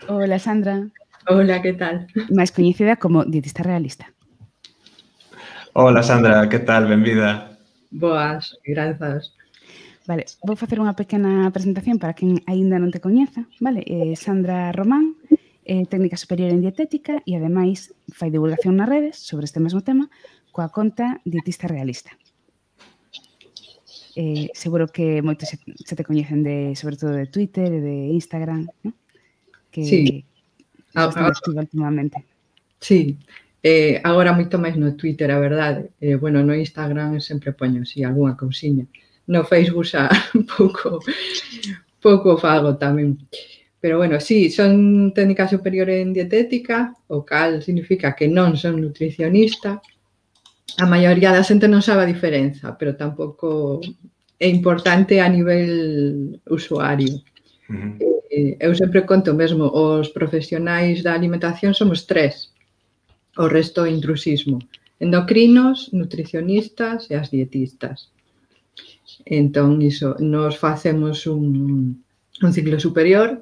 Hola, Sandra. Hola, que tal? Máis coñecida como dietista realista. Hola, Sandra, que tal? Benvida. Boas, grazas. Vale, vou facer unha pequena presentación para quen aínda non te coñeza, vale? Sandra Román, técnica superior en dietética e, ademais, fai divulgación nas redes sobre este mesmo tema coa conta Dietista Realista. Seguro que moitos se te coñecen sobre todo de Twitter e de Instagram, ¿no? Que sí. Estás tan activa últimamente. Sí, agora moito máis no Twitter, a verdade. Bueno, no Instagram sempre poño así algunha cousiña. No Facebook xa pouco fago tamén. Pero bueno, sí, son técnica superior en dietética, o cal significa que non son nutricionista. A maioría da xente non sabe a diferenza, pero tampouco é importante a nivel usuario. Eu sempre conto mesmo, os profesionais da alimentación somos 3, o resto é intrusismo. Endocrinos, nutricionistas e as dietistas. Entón, iso, nos facemos un ciclo superior,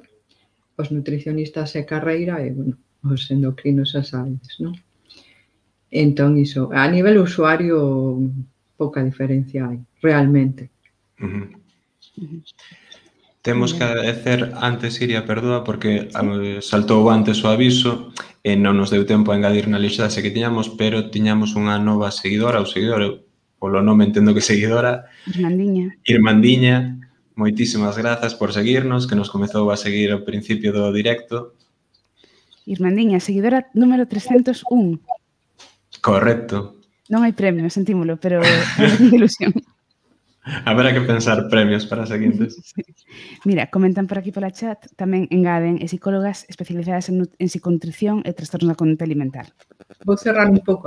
os nutricionistas e carreira, e, bueno, os endocrinos as sabedes, non? Entón, iso, a nivel usuario, pouca diferencia hai, realmente. Temos que agradecer antes, Iria, perdoa, porque saltou antes o aviso e non nos deu tempo a engadir na lixase que tiñamos, pero tiñamos unha nova seguidora, ou seguidor, polo nome entendo que seguidora. Irmandiña, moitísimas grazas por seguirnos, que nos comezou a seguir ao principio do directo. Irmandiña, seguidora número 301. Correcto. Non hai premio, sentímolo, pero é unha ilusión. Haberá que pensar premios para seguintes. Sí. Mira, comentan por aquí pola chat, tamén engaden psicólogas especializadas en psiconutrición e trastornos da conduta alimentar. Vou cerrar un pouco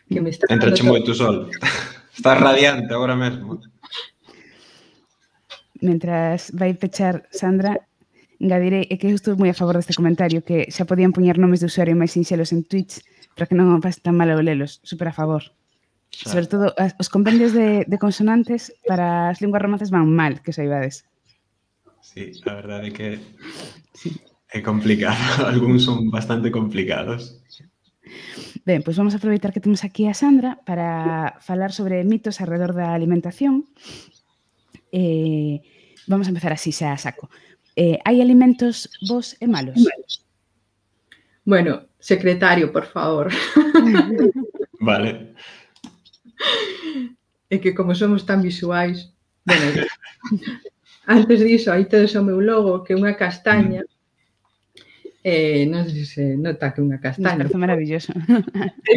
que me está... Entrache moito sol. Estás radiante agora mesmo. Mentras vai pechar Sandra, engadirei, é que eu estou moi a favor deste comentario, que xa podían poñer nomes de usuario máis sinxelos en Twitch para que non pase tan mal ao lelos. Super a favor. Sobre todo, os compendios de consonantes para as linguas romances van mal, que saibades. Sí, a verdade é que é complicado. Algúns son bastante complicados. Ben, pois vamos a aproveitar que temos aquí a Sandra para falar sobre mitos alrededor da alimentación. Vamos a empezar así xa a saco. Hai alimentos bons e malos? Bueno, secretario, por favor. Vale. É que como somos tan visuais, bueno, antes diso, aí tedes o meu logo, que é unha castaña, non sei se nota que é unha castaña. Nos parece maravilloso.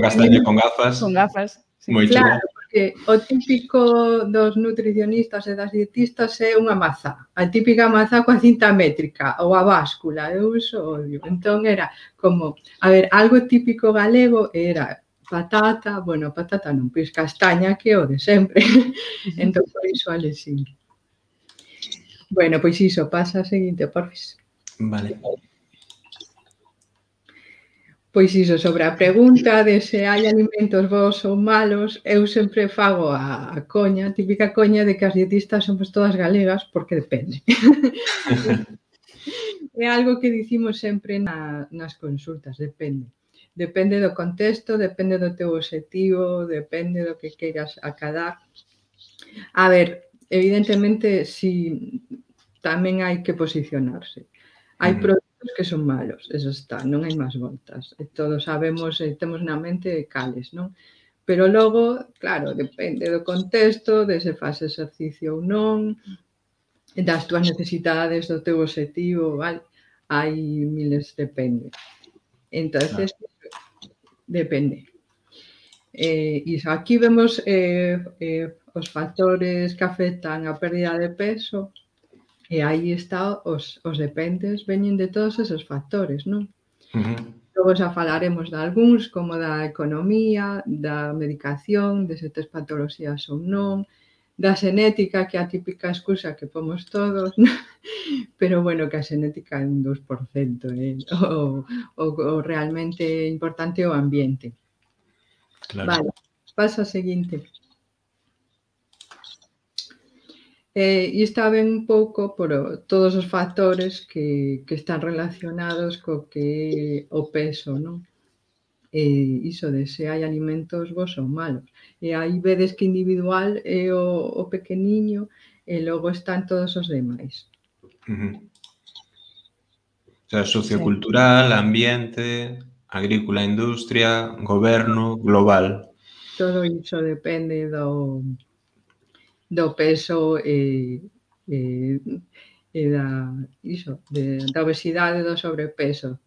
Castaña con gafas. Con gafas. Sí. Claro, porque o típico dos nutricionistas e das dietistas é unha mazá. A típica mazá coa cinta métrica ou a báscula, eu iso odio. Entón era como, a ver, algo típico galego era patata, bueno, patata non, pois castaña, que é o de sempre. Entón, por iso alexín. Bueno, pois iso, pasa a seguinte, porfis. Vale. Pois iso, sobre a pregunta de se hai alimentos bons ou malos, eu sempre fago a coña, a típica coña de que as dietistas somos todas galegas, porque depende. É algo que dicimos sempre nas consultas, depende. Depende do contexto, depende do teu obxectivo, depende do que queiras acadar. A ver, evidentemente, si tamén hai que posicionarse. Hai produtos que son malos, eso está, non hai máis voltas. Todos sabemos, temos na mente cales, non? Pero logo, claro, depende do contexto, de se faz exercicio ou non, das túas necesidades, do teu obxectivo, vale? Hai miles, depende. Entonces, depende. Iso, aquí vemos os factores que afectan a pérdida de peso, e aí está, os dependes veñen de todos esos factores, non? Logo xa falaremos de algúns, como da economía, da medicación, de se tes patoloxías ou non, da xenética, que é a típica excusa que pomos todos, pero bueno, que a xenética é un 2%, o realmente importante é o ambiente. Vale, pasa a seguinte. E está ben un pouco por todos os factores que están relacionados co que o peso, non? Iso de se hai alimentos bons ou malos. E aí vedes que individual é o pequeniño e logo están todos os demais. O sea, sociocultural, ambiente, agrícola, industria, goberno, global. Todo iso depende do peso e da obesidade e do sobrepeso.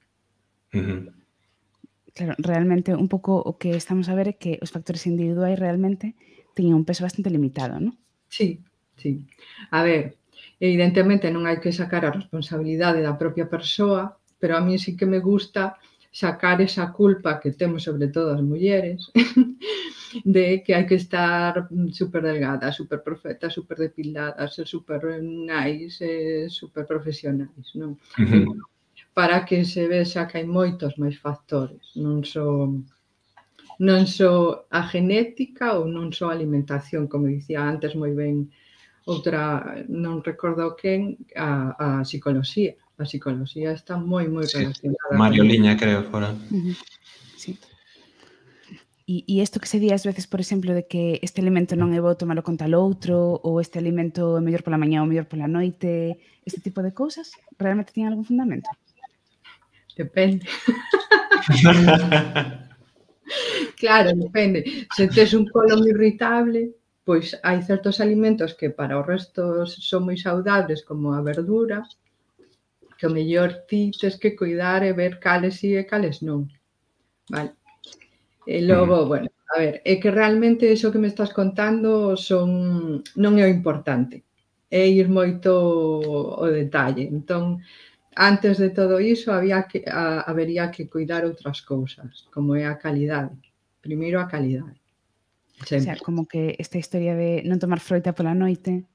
Claro, realmente un pouco o que estamos a ver é que os factores individuais realmente teñen un peso bastante limitado, non? Sí. A ver, evidentemente non hai que sacar a responsabilidade da propia persoa, pero a mí sí que me gusta sacar esa culpa que temos sobre todo as mulleres de que hai que estar super delgada, super perfecta, super depilada, ser super nice, super profesionais, non? Para que se vexa que hai moitos máis factores, non só a genética ou non só a alimentación, como dicía antes moi ben outra, non recordo quen, a psicoloxía. A psicoloxía está moi relacionada. Mario Liña, creo, fora. Sí. E isto que se di ás veces, por exemplo, de que este alimento non é bo tomalo con tal outro, ou este alimento é mellor pola mañá ou mellor pola noite, este tipo de cousas, realmente tiñen algún fundamento? Depende. Claro, depende. Se tes un colon irritable, pois hai certos alimentos que para o resto son moi saudables, como a verdura, que o mellor ti tes que cuidar e ver cales si e cales non. Vale. E logo, bueno, a ver, é que realmente iso que me estás contando non é o importante, é ir moito o detalle. Entón, antes de todo iso, habería que cuidar outras cousas, como é a calidade. Primeiro a calidade. O Sempre. sea, como que esta historia de non tomar froita pola noite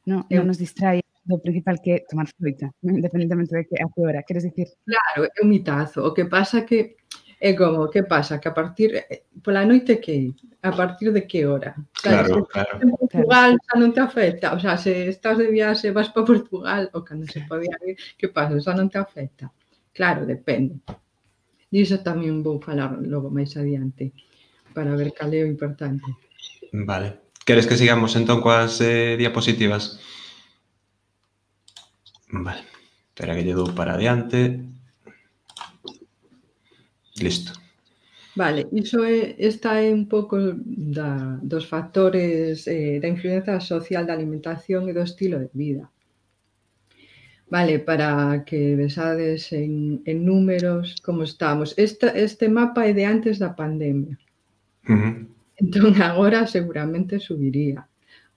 non nos distrae do principal que é tomar froita, independentemente de que a que hora, queres dicir? Claro, é un mitazo. O que pasa que é como, que pasa? Que a partir pola noite que? A partir de que hora? Claro. En Portugal xa non te afecta, o sea, se estás de viaxe, vas para Portugal, ou cando se podía ir, que pasa? Xa non te afecta. Claro, depende. Diso tamén vou falar logo máis adiante, para ver cal é o importante. Vale. Queres que sigamos entón coas diapositivas? Vale. Espera que lle dou para adiante. Listo. Vale, esta é un pouco dos factores da influencia social da alimentación e do estilo de vida. Vale, para que vexades en números como estamos. Este mapa é de antes da pandemia. Entón, agora seguramente subiría,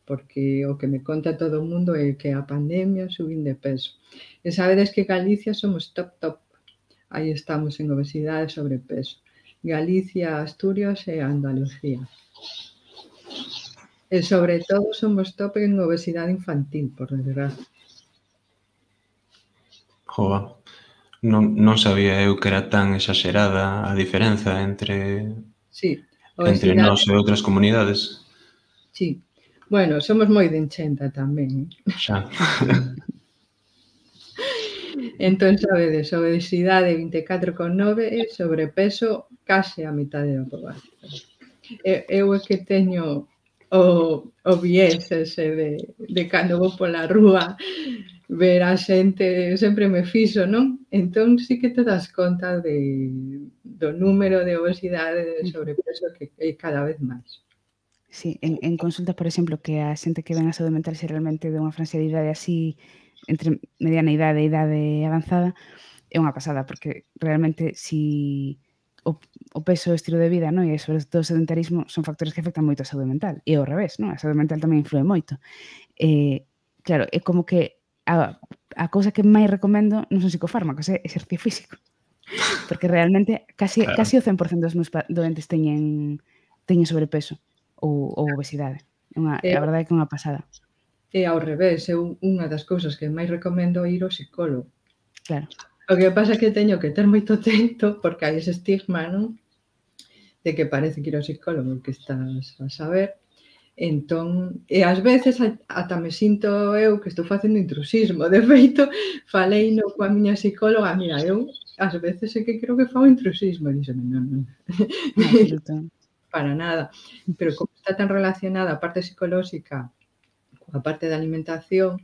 porque o que me conta todo o mundo é que a pandemia subín de peso. E sabedes que Galicia somos top. Aí estamos en obesidade e sobrepeso. Galicia, Asturias e Andalucía. E sobre todo somos top en obesidade infantil, por desgracia. Joa, non sabía eu que era tan exagerada a diferenza entre nós e outras comunidades. Sí. Bueno, somos moi de enchenta tamén. Xa. Entón, sabedes, obesidade 24,9 e sobrepeso case a metade da poboación. Eu é que teño o viés ese de cando vou pola rúa ver a xente, sempre me fixo, non? Entón, sí que te das conta do número de obesidade e de sobrepeso que é cada vez máis. Sí, en consulta, por exemplo, que a xente que ven a saúde mental xeralmente de unha franxa de idade así, entre mediana idade e idade avanzada, é unha pasada, porque realmente si o peso e o estilo de vida, non? E sobre todo o sedentarismo son factores que afectan moito a saúde mental. E ao revés, non? A saúde mental tamén influe moito. Claro, é como que a cousa que máis recomendo non son psicofármacos, é exercicio físico. Porque realmente casi o 100% dos meus doentes teñen sobrepeso ou obesidade. A verdade é que é unha pasada. E ao revés, eu unha das cousas que máis recomendo é ir ao psicólogo. Claro. O que pasa é que teño que ter moito tento, porque hai ese estigma, non? De que parece que ir ao psicólogo que estás a saber. Entón, e ás veces ata me sinto eu que estou facendo intrusismo. De feito, falei coa miña psicóloga, mira, eu ás veces é que creo que fago intrusismo. E díxeme, non. Absoluto. Para nada. Pero como está tan relacionada a parte psicolóxica coa parte da alimentación,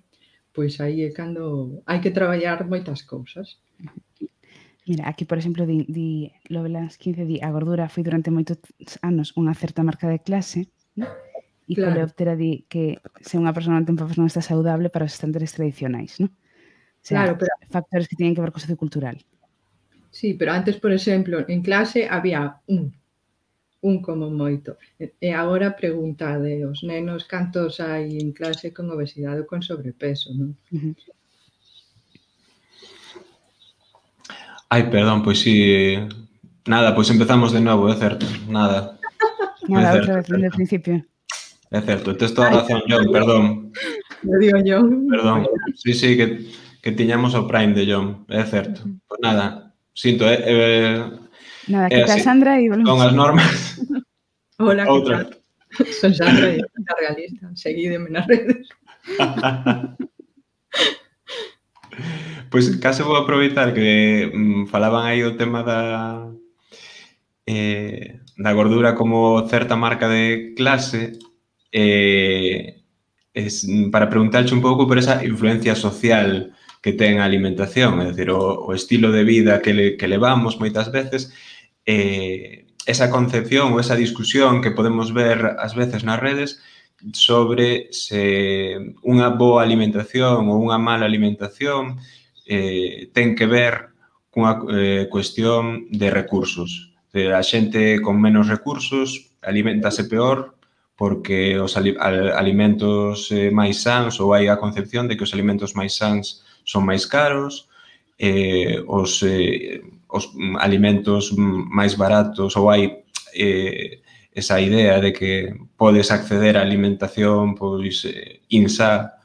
pois aí é cando hai que traballar moitas cousas. Mira, aquí, por exemplo, di Lovelas 15, a gordura foi durante moitos anos unha certa marca de clase, ¿no? E Coleóptera di que se unha persoa non ten papas non está saudable para os estándares tradicionais, ¿no? O sea, factores que teñen que ver co sociocultural. Sí, pero antes, por exemplo, en clase había un como moito. E agora preguntade aos nenos cantos hai en clase con obesidade ou con sobrepeso, non? Ai, perdón, pois si... Nada, pois empezamos de novo, é certo. Nada. Nada, outra vez, dende o principio. É certo, tes toda a razón, John, perdón. Lo digo yo. Perdón, sí, que tiñamos o Prime de John, é certo. Pois nada, sinto, nada, que tal, Sandra? E volvemos. Con as normas. Hola, que tal? Son Sandra, la realista. Seguídeme nas redes. Pois case vou aproveitar que falaban aí o tema da gordura como certa marca de clase, para preguntarche un pouco por esa influencia social que ten a alimentación, é dicir, o estilo de vida que levamos moitas veces, esa concepción ou esa discusión que podemos ver ás veces nas redes sobre se unha boa alimentación ou unha mala alimentación ten que ver cunha cuestión de recursos. A xente con menos recursos alimentase peor porque os alimentos máis sans, ou hai a concepción de que os alimentos máis sans son máis caros, os alimentos máis baratos, ou hai esa idea de que podes acceder á alimentación pois insá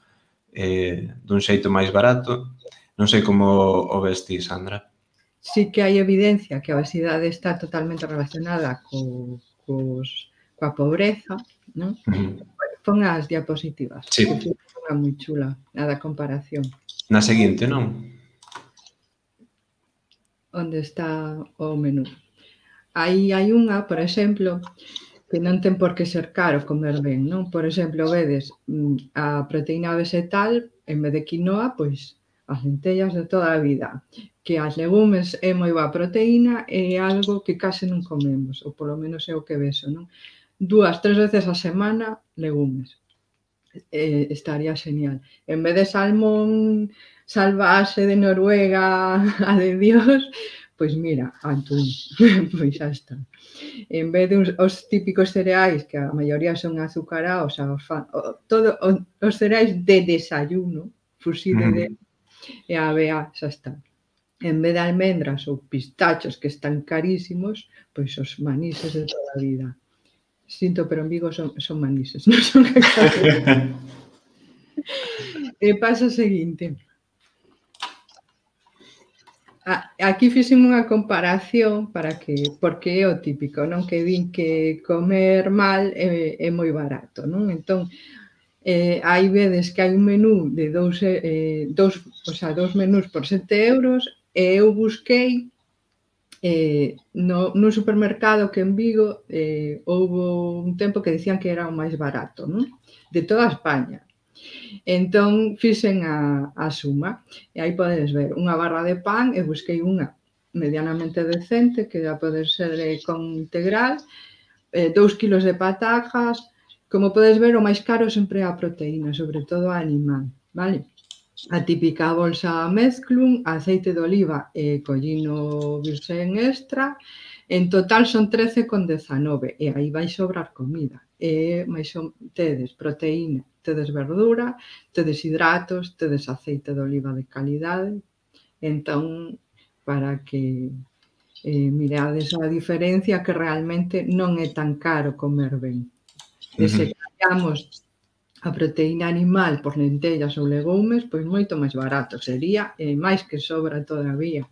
dun xeito máis barato. Non sei como o ves ti, Sandra. Sí que hai evidencia que a obesidade está totalmente relacionada coa pobreza, non? Pon as diapositivas. Sí. Que é moi chula, a da comparación. Na seguinte, non? Onde está o menú. Aí hai unha, por exemplo, que non ten por que ser caro comer ben, non? Por exemplo, vedes a proteína vegetal, en vez de quinoa, pois as lentellas de toda a vida. Que as legumes é moi boa proteína e é algo que case non comemos, ou polo menos é o que vexo, non? 2, 3 veces a semana, legumes. Estaría genial. En vez de salmón salvaxe de Noruega, a de Dios, pois mira, atún, pois xa está. En vez de os típicos cereais, que a maioría son azucarados, todos os cereais de desayuno, fusible de e a avea, xa está. En vez de almendras ou pistachos que están carísimos, pois os manises de toda a vida. Sinto, pero en Vigo son manises, non son cacahuetes. E pasa o seguinte. Aquí fixen unha comparación porque é o típico, non? Que din que comer mal é moi barato, non? Entón, aí vedes que hai un menú de dous menús por 7 euros e eu busquei no supermercado que en Vigo houve un tempo que dicían que era o máis barato, non? De toda España. Entón, fixen a suma e aí podes ver unha barra de pan e busquei unha medianamente decente que já pode ser con integral, 2 kilos de patajas. Como podes ver, o máis caro sempre é a proteína, sobre todo a animal, vale? A típica bolsa Mezclun, aceite de oliva e collino virxen extra, en total son 13,19 e aí vai sobrar comida. E máis tedes proteína, tedes verdura, tedes hidratos, tedes aceite de oliva de calidade. Entón, para que mirades a diferencia, que realmente non é tan caro comer ben. E se cambiamos a proteína animal por lentellas ou legumes, pois moito máis barato sería, e máis que sobra todavía.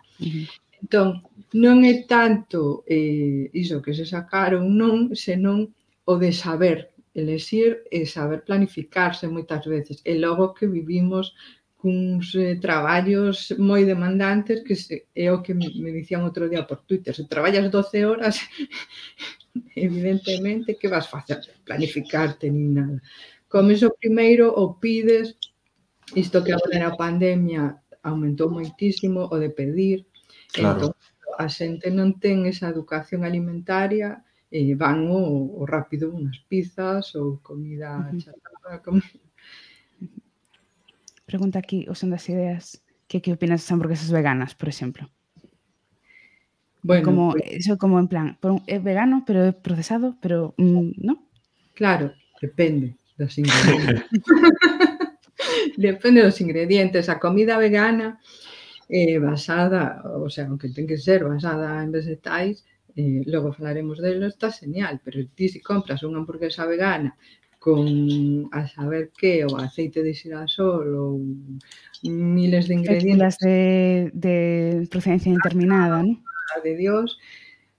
Entón, non é tanto iso que se sacaron, non, senón o de saber elexir e saber planificarse moitas veces. E logo que vivimos cuns traballos moi demandantes que é o que me dicían outro día por Twitter. Se traballas 12 horas, evidentemente, que vas facer? Planificarte nin nada. Comes o primeiro ou pides, isto que agora na pandemia aumentou moitísimo, o de pedir. Claro. Entón, a xente non ten esa educación alimentaria, van o rápido unhas pizzas ou comida chatarra. Pregunta aquí o Son das Ideas que opinas das hamburguesas veganas, por exemplo. Bueno, eso como en plan, é vegano, pero é procesado, pero ¿no? Claro, depende dos ingredientes. Depende dos ingredientes. A comida vegana basada, o sea, aunque ten que ser basada en vegetais, logo falaremos delo, está genial, pero ti se compras unha hamburguesa vegana con a saber que, o aceite de xirasol ou miles de ingredientes de procedencia indeterminada, non? De Dios,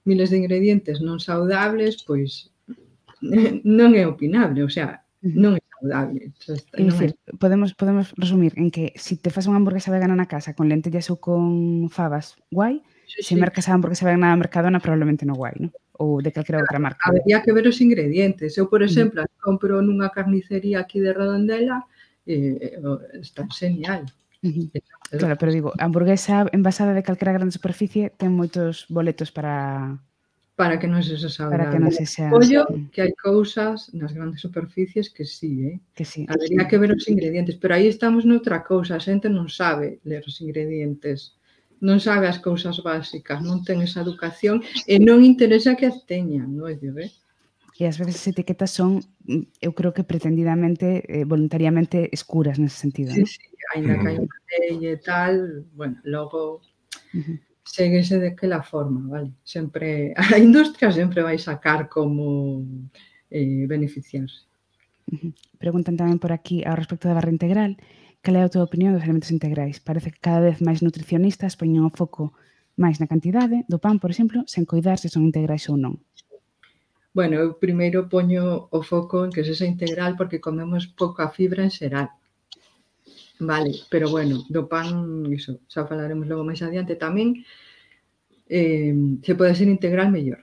miles de ingredientes non saudables, pois non é opinable, o sea, non é saudable. É dicir, podemos resumir en que se te fas unha hamburguesa vegana na casa con lentellas ou con fabas, guai, se mercas a hamburguesa vegana na Mercadona probablemente non guai, non? Ou de calquera outra marca. Habería que ver os ingredientes. Eu, por exemplo, compro nunha carnicería aquí de Redondela, está genial. Claro, pero digo, a hamburguesa envasada de calquera grande superficie ten moitos boletos para que non sexa saudable. Para que non sexa... Ollo que hai cousas nas grandes superficies que sí, Que sí. Habería que ver os ingredientes, pero aí estamos noutra cousa, a xente non sabe ler os ingredientes, non sabe as cousas básicas, non ten esa educación e non interesa que as teñan, non é? E ás veces as etiquetas son, eu creo que pretendidamente, voluntariamente escuras nese sentido. Sí, ainda que hai unha lei e tal, bueno, logo séguese de aquela forma, vale? Sempre, a industria sempre vai sacar como beneficiarse. Preguntan tamén por aquí ao respecto da barra integral, cal é a tua opinión dos alimentos integrais? Parece que cada vez máis nutricionistas poñen o foco máis na cantidade do pan, por exemplo, sen coidar se son integrais ou non. Bueno, eu primeiro poño o foco en que sexa integral porque comemos pouca fibra en xeral. Vale, pero bueno, do pan, iso, xa falaremos logo máis adiante tamén, se pode ser integral mellor.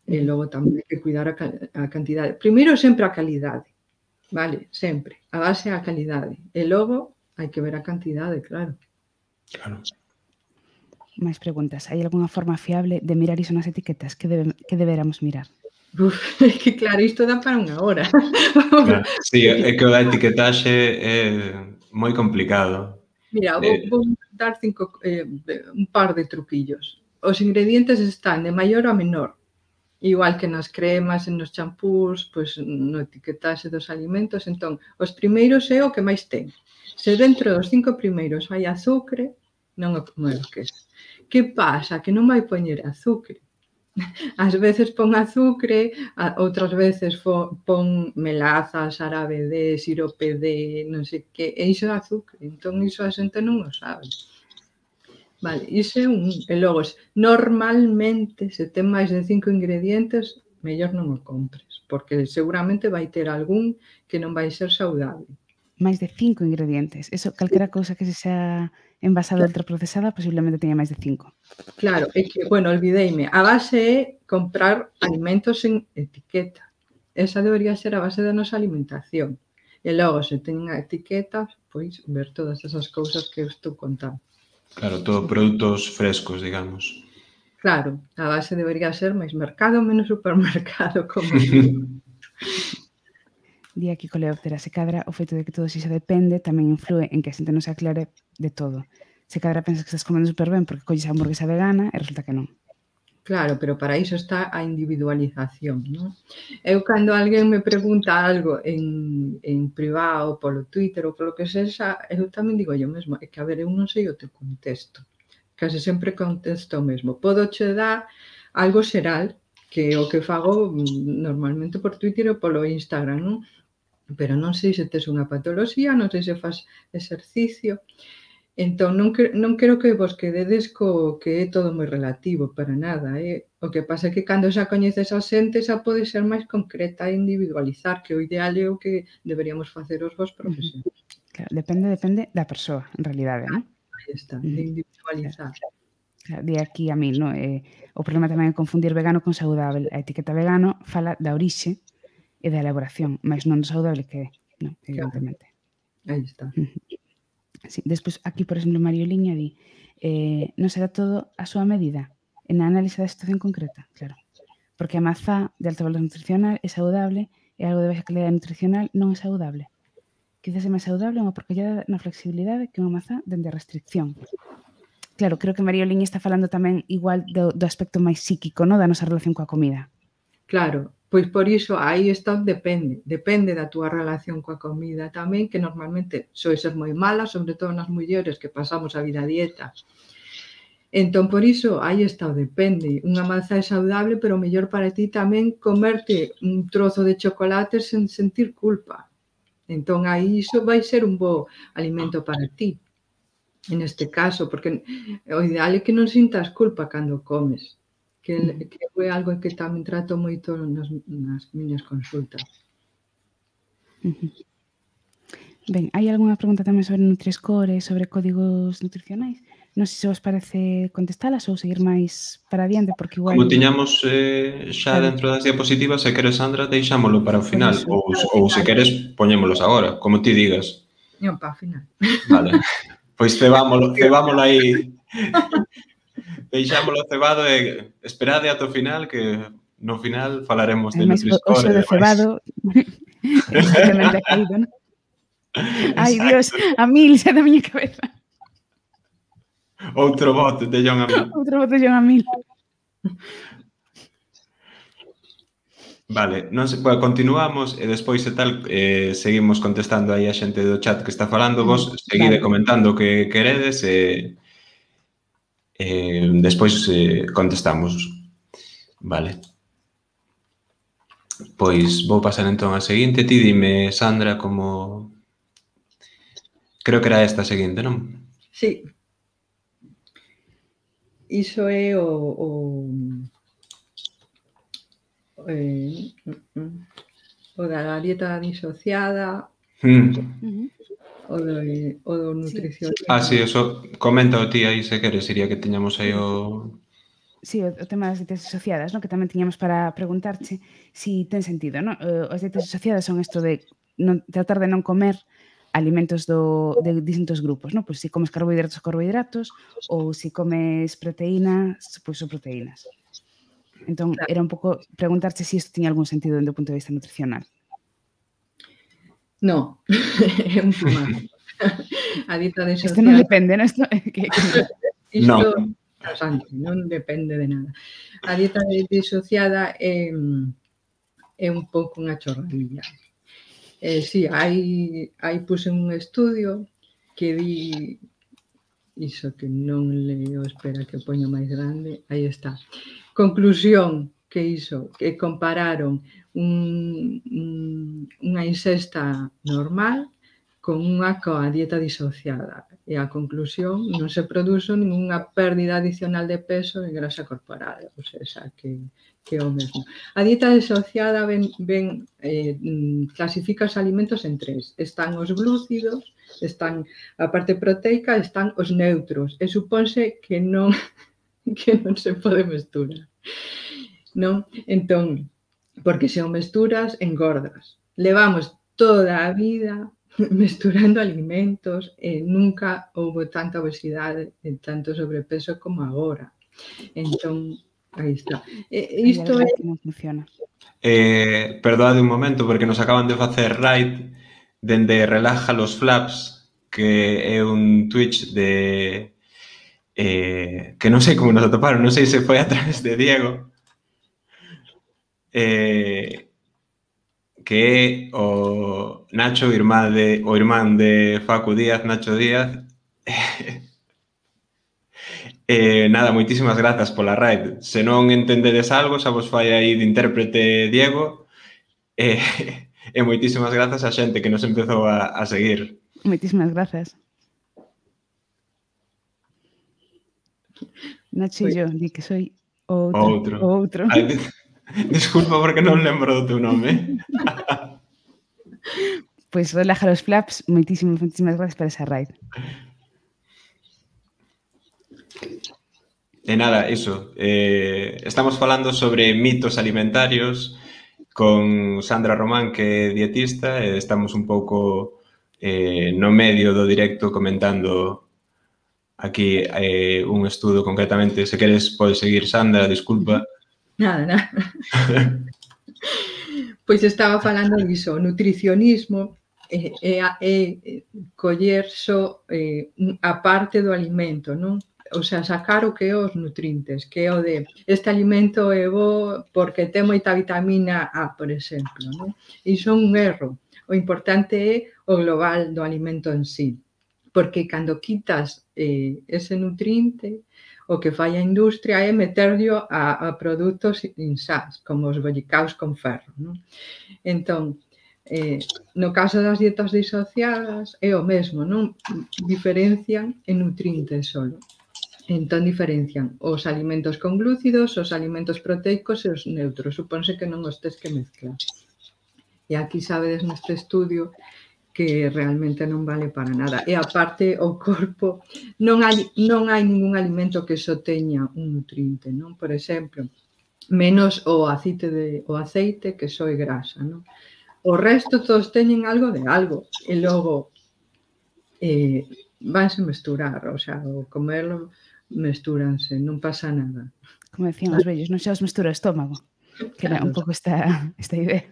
E logo tamén hai que cuidar a cantidade. Primeiro sempre a calidade, vale, sempre. A base é a calidade. E logo hai que ver a cantidade, claro. Claro. Máis preguntas. Hai algunha forma fiable de mirar iso nas etiquetas? Que deberamos mirar? Que claro, isto dá para unha hora. Claro, sí, é que a etiquetaxe é moi complicado. Mira, vou dar un par de truquillos. Os ingredientes están de maior a menor, igual que nas cremas, nos champús, pois no etiquetaxe dos alimentos. Entón, os primeiros é o que máis ten. Se dentro dos 5 primeiros hai azúcar, non o merques. Que pasa? Que non vai poñer azúcar. Ás veces pon azúcar, outras veces pon melaza, xarabe de, sirope de, non sei que, e iso é azúcar. Entón, iso a xente non o sabe. Vale, iso é un. E logo, normalmente, se ten máis de 5 ingredientes, mellor non o compres, porque seguramente vai ter algún que non vai ser saudable. Máis de 5 ingredientes. Eso, calquera cousa que se xa envasada ultraprocesada, posiblemente teña máis de 5. Claro, é que, bueno, olvideime, a base é comprar alimentos en etiqueta. Esa debería ser a base da nosa alimentación. E logo, se ten etiquetas, pois ver todas esas cousas que eu estou contando. Claro, todo produtos frescos, digamos. Claro, a base debería ser máis mercado, menos supermercado, como Di aquí Coleóptera, se cadra o feito de que todo iso depende tamén influe en que a xente non se aclare de todo. Se cadra pensas que estás comendo super ben porque colles a hamburguesa vegana e resulta que non. Claro, pero para iso está a individualización, non? Eu, cando alguén me pregunta algo en privado, polo Twitter ou polo que sexa, eu tamén digo yo mesmo, é que, a ver, eu non sei o teu contexto. Case sempre contesto o mesmo. Podo che dar algo xeral, que é o que fago normalmente por Twitter ou polo Instagram, non? Pero non sei se tes unha patoloxía, non sei se faz exercicio. Entón, non quero que vos quededes co que é todo moi relativo, para nada. O que pasa é que cando xa coñeces a xente xa pode ser máis concreta e individualizar, que o ideal é o que deberíamos facer os vos profesionais. Claro, depende da persoa, en realidade, non? Aí está, de individualizar. Claro, de aquí a mil, non? O problema tamén é confundir vegano con saudável. A etiqueta vegano fala da orixe e da elaboración, mas non do saudável que é, non? Evidentemente. Aí está. Sí, despois, aquí, por exemplo, Mario Liña di non será todo a súa medida en a análise da situación concreta, claro. Porque a mazá de alto valor nutricional é saudable e algo de baixa calidade nutricional non é saudable. Quizás é máis saudable unha porcallada na flexibilidade que unha mazá dende a restricción. Claro, creo que Mario Liña está falando tamén igual do aspecto máis psíquico, non? Da nosa relación coa comida. Claro, pois por iso aí está depende da túa relación coa comida tamén, que normalmente soe ser moi mala, sobre todo nas mulleres que pasamos a vida a dieta. Entón, por iso, aí está o depende. Unha mazá é saudable, pero mellor para ti tamén comerte un trozo de chocolate sen sentir culpa. Entón, aí iso vai ser un bo alimento para ti, en este caso, porque o ideal é que non sintas culpa cando comes. Que é algo que tamén trato moito nas miñas consultas. Ben, hai algunha pregunta tamén sobre Nutri-Score, sobre códigos nutricionais? Non sei se vos parece contestalas ou seguir máis para adiante, porque igual... Como tiñamos xa dentro das diapositivas, se queres, Sandra, deixámolo para o final, ou se queres, poñémolos agora, como ti digas. Non, para o final. Vale, pois cebámolo aí... Deixámoslo cebado e esperade ata o final, que no final falaremos de Nutri-Score. O xo de cebado simplemente ha caído, non? Ai, Dios, a mil xa da miña cabeza. Outro bote de John a mil. Outro bote de John a mil. Vale, non sei, bueno, continuamos e despois e tal seguimos contestando aí a xente do chat que está falando. Vos seguide comentando o que queredes e despois contestamos. Vale. Pois vou pasar entón a seguinte. Ti dime, Sandra, como... Creo que era esta a seguinte, non? Sí. Iso é o da dieta disociada, o do nutrición. Sí, eso, comenta o ti aí se queres, Iria, que tiñamos aí o... Sí, o tema das dietas asociadas, non? Que tamén tiñamos para preguntarche si ten sentido, non? As dietas asociadas son isto de tratar de non comer alimentos de distintos grupos, non? Pois se comes carbohidratos, ou se comes proteínas, pois son proteínas. Entón, era un pouco preguntarche se isto tiña algún sentido dende o punto de vista nutricional. No, é un fumazo. A dieta disociada... Isto non depende, non? Non depende de nada. A dieta disociada é un pouco unha chorradilla. Sí, aí puse un estudio que di iso que non leo, espera que poño máis grande, aí está. Conclusión, que iso, que compararon unha ingesta normal con unha coa dieta disociada. E a conclusión, non se produzo ninguna pérdida adicional de peso en grasa corporal, ou seja, que é o mesmo. A dieta disociada clasifica os alimentos en tres. Están os glúcidos, están a parte proteica, están os neutros. E supónse que non se pode mesturar. Non? Entón, porque se o mesturas, engordas. Levamos toda a vida mesturando alimentos e nunca houve tanta obesidade e tanto sobrepeso como agora. Entón, aí está. Isto é... Non funciona. Perdoade un momento, porque nos acaban de facer raid dende Relaja los Flaps, que é un Twitch de... que non sei como nos atoparon, non sei se foi a través de Diego, que é o Nacho, o irmán de Facu Díaz, Nacho Díaz. Nada, moitísimas grazas pola raid. Se non entendedes algo, xa vos fai aí de intérprete Diego. E moitísimas grazas a xente que nos empezou a seguir. Moitísimas grazas. Nacho e yo, di que soy o Outro. outro. Ai, disculpa porque non lembro do teu nome. Pois relaja os flaps, moitísimas gracias por esa raid. E nada, iso. Estamos falando sobre mitos alimentarios con Sandra Román, que é dietista, e estamos un pouco no medio do directo comentando aquí un estudo concretamente. Se queres, podes seguir, Sandra, disculpa. Nada. Pois estaba falando diso, o nutricionismo é coller só a parte do alimento, non? O sea, sacar o que é os nutrientes, que é o de este alimento é bo porque ten moita vitamina A, por exemplo, non? Iso é un erro. O importante é o global do alimento en sí, porque cando quitas ese nutriente, o que fai a industria é meterlo a produtos insans, como os bollicaos con ferro, non? Entón, no caso das dietas disociadas é o mesmo, non? Diferencian en nutrientes solo. Entón, diferencian os alimentos con glúcidos, os alimentos proteicos e os neutros. Supónse que non os tes que mezclar. E aquí sabedes neste estudio que realmente non vale para nada. E aparte, o corpo, non hai ningún alimento que só teña un nutriente, non? Por exemplo, menos o aceite que só é grasa, non? O resto todos teñen algo de algo. E logo vanse mesturar, o sea, o comerlo mestúranse, non pasa nada. Como decían os vellos, non xa os mestura o estómago, que era un pouco esta idea.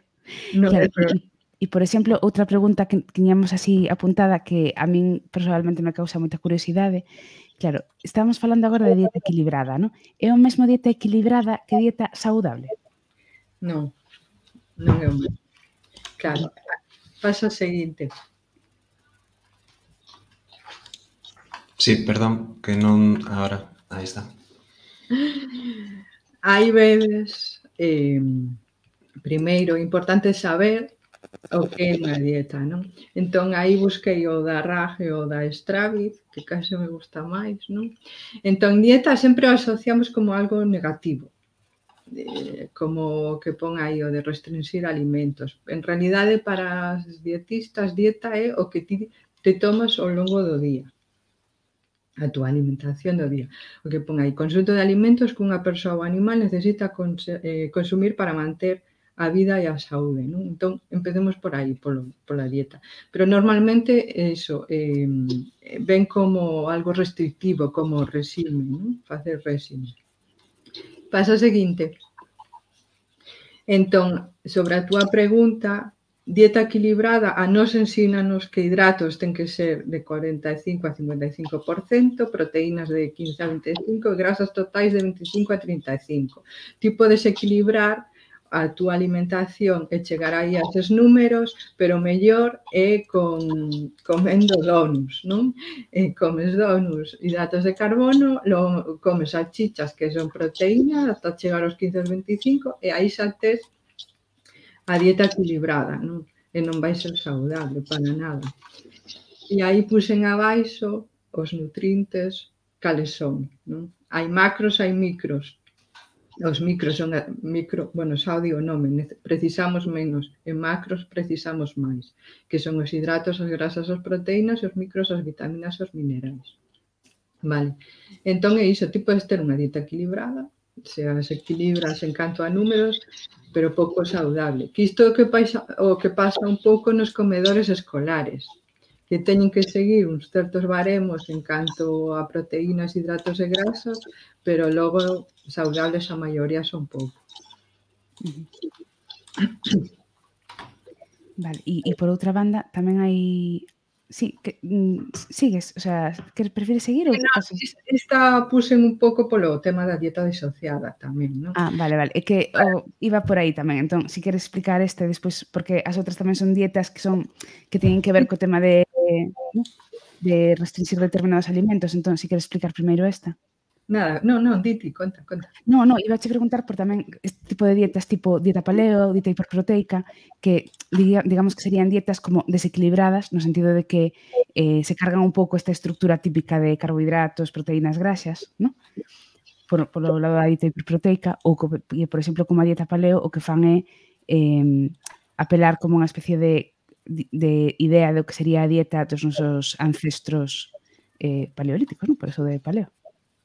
No, Claro, pero e, por exemplo, outra pregunta que tiñamos así apuntada que a min personalmente me causa moita curiosidade. Claro, estamos falando agora de dieta equilibrada, non? É o mesmo dieta equilibrada que dieta saudable? non é o mesmo. Claro, pasa o seguinte. Sí, perdón, que non... Agora, aí está. Hai veces, primeiro, importante saber o que é unha dieta, non? Entón, aí busquei o da RAG e o da Stravit, que case me gusta máis, non? Entón, dieta sempre o asociamos como algo negativo, como que pon aí o de restringir alimentos. En realidade, para as dietistas, dieta é o que ti te tomas ao longo do día, a túa alimentación do día. O que pon aí, conxunto de alimentos que unha persoa ou animal necesita consumir para manter a vida e a saúde, non? Entón, empecemos por aí, pola dieta. Pero normalmente, iso, ven como algo restrictivo, como réxime, non? Facer réxime. Pasa o seguinte. Entón, sobre a túa pregunta, dieta equilibrada, a nos ensínanos que hidratos ten que ser de 45 a 55%, proteínas de 15 a 25 e grasas totais de 25 a 35. Ti podes equilibrar a túa alimentación e chegar aí a eses números, pero mellor é comendo donuts, non? Comes donuts, hidratos de carbono, comes salchichas que son proteínas ata chegar aos 15 a 25 e aí xa tes a dieta equilibrada, non? E non vai ser saudable para nada. E aí puxen abaixo os nutrientes cales son, non? Hai macros, hai micros. Os micros son bueno, xa o digo o nome, precisamos menos, e macros precisamos máis, que son os hidratos, as grasas, as proteínas, e os micros, as vitaminas e os minerais. Vale. Entón é iso, ti podes ter unha dieta equilibrada, se as equilibras en canto a números, pero pouco saudable. Que isto é o que pasa un pouco nos comedores escolares, que teñen que seguir uns certos baremos en canto a proteínas, hidratos e grasas, pero logo saudables a maioría son pouco. Vale, e por outra banda tamén hai... Sí, sigues, o sea, que prefires seguir ou... Esta puxen un pouco polo tema da dieta disociada tamén, non? Ah, vale, é que iba por aí tamén, entón, si queres explicar despois, porque as outras tamén son dietas que teñen que ver co tema de restringir determinados alimentos, entón, si queres explicar primeiro esta. Nada, non, diti, conta. Non, iba a che preguntar por tamén este tipo de dietas, tipo dieta paleo, dieta hiperproteica, que digamos que serían dietas como desequilibradas, no sentido de que se cargan un pouco esta estructura típica de carbohidratos, proteínas, grasas, non? polo lado da dieta hiperproteica, ou, por exemplo, como a dieta paleo, o que fan é apelar como unha especie de idea do que sería a dieta dos nosos ancestros paleolíticos, non? Por eso de paleo.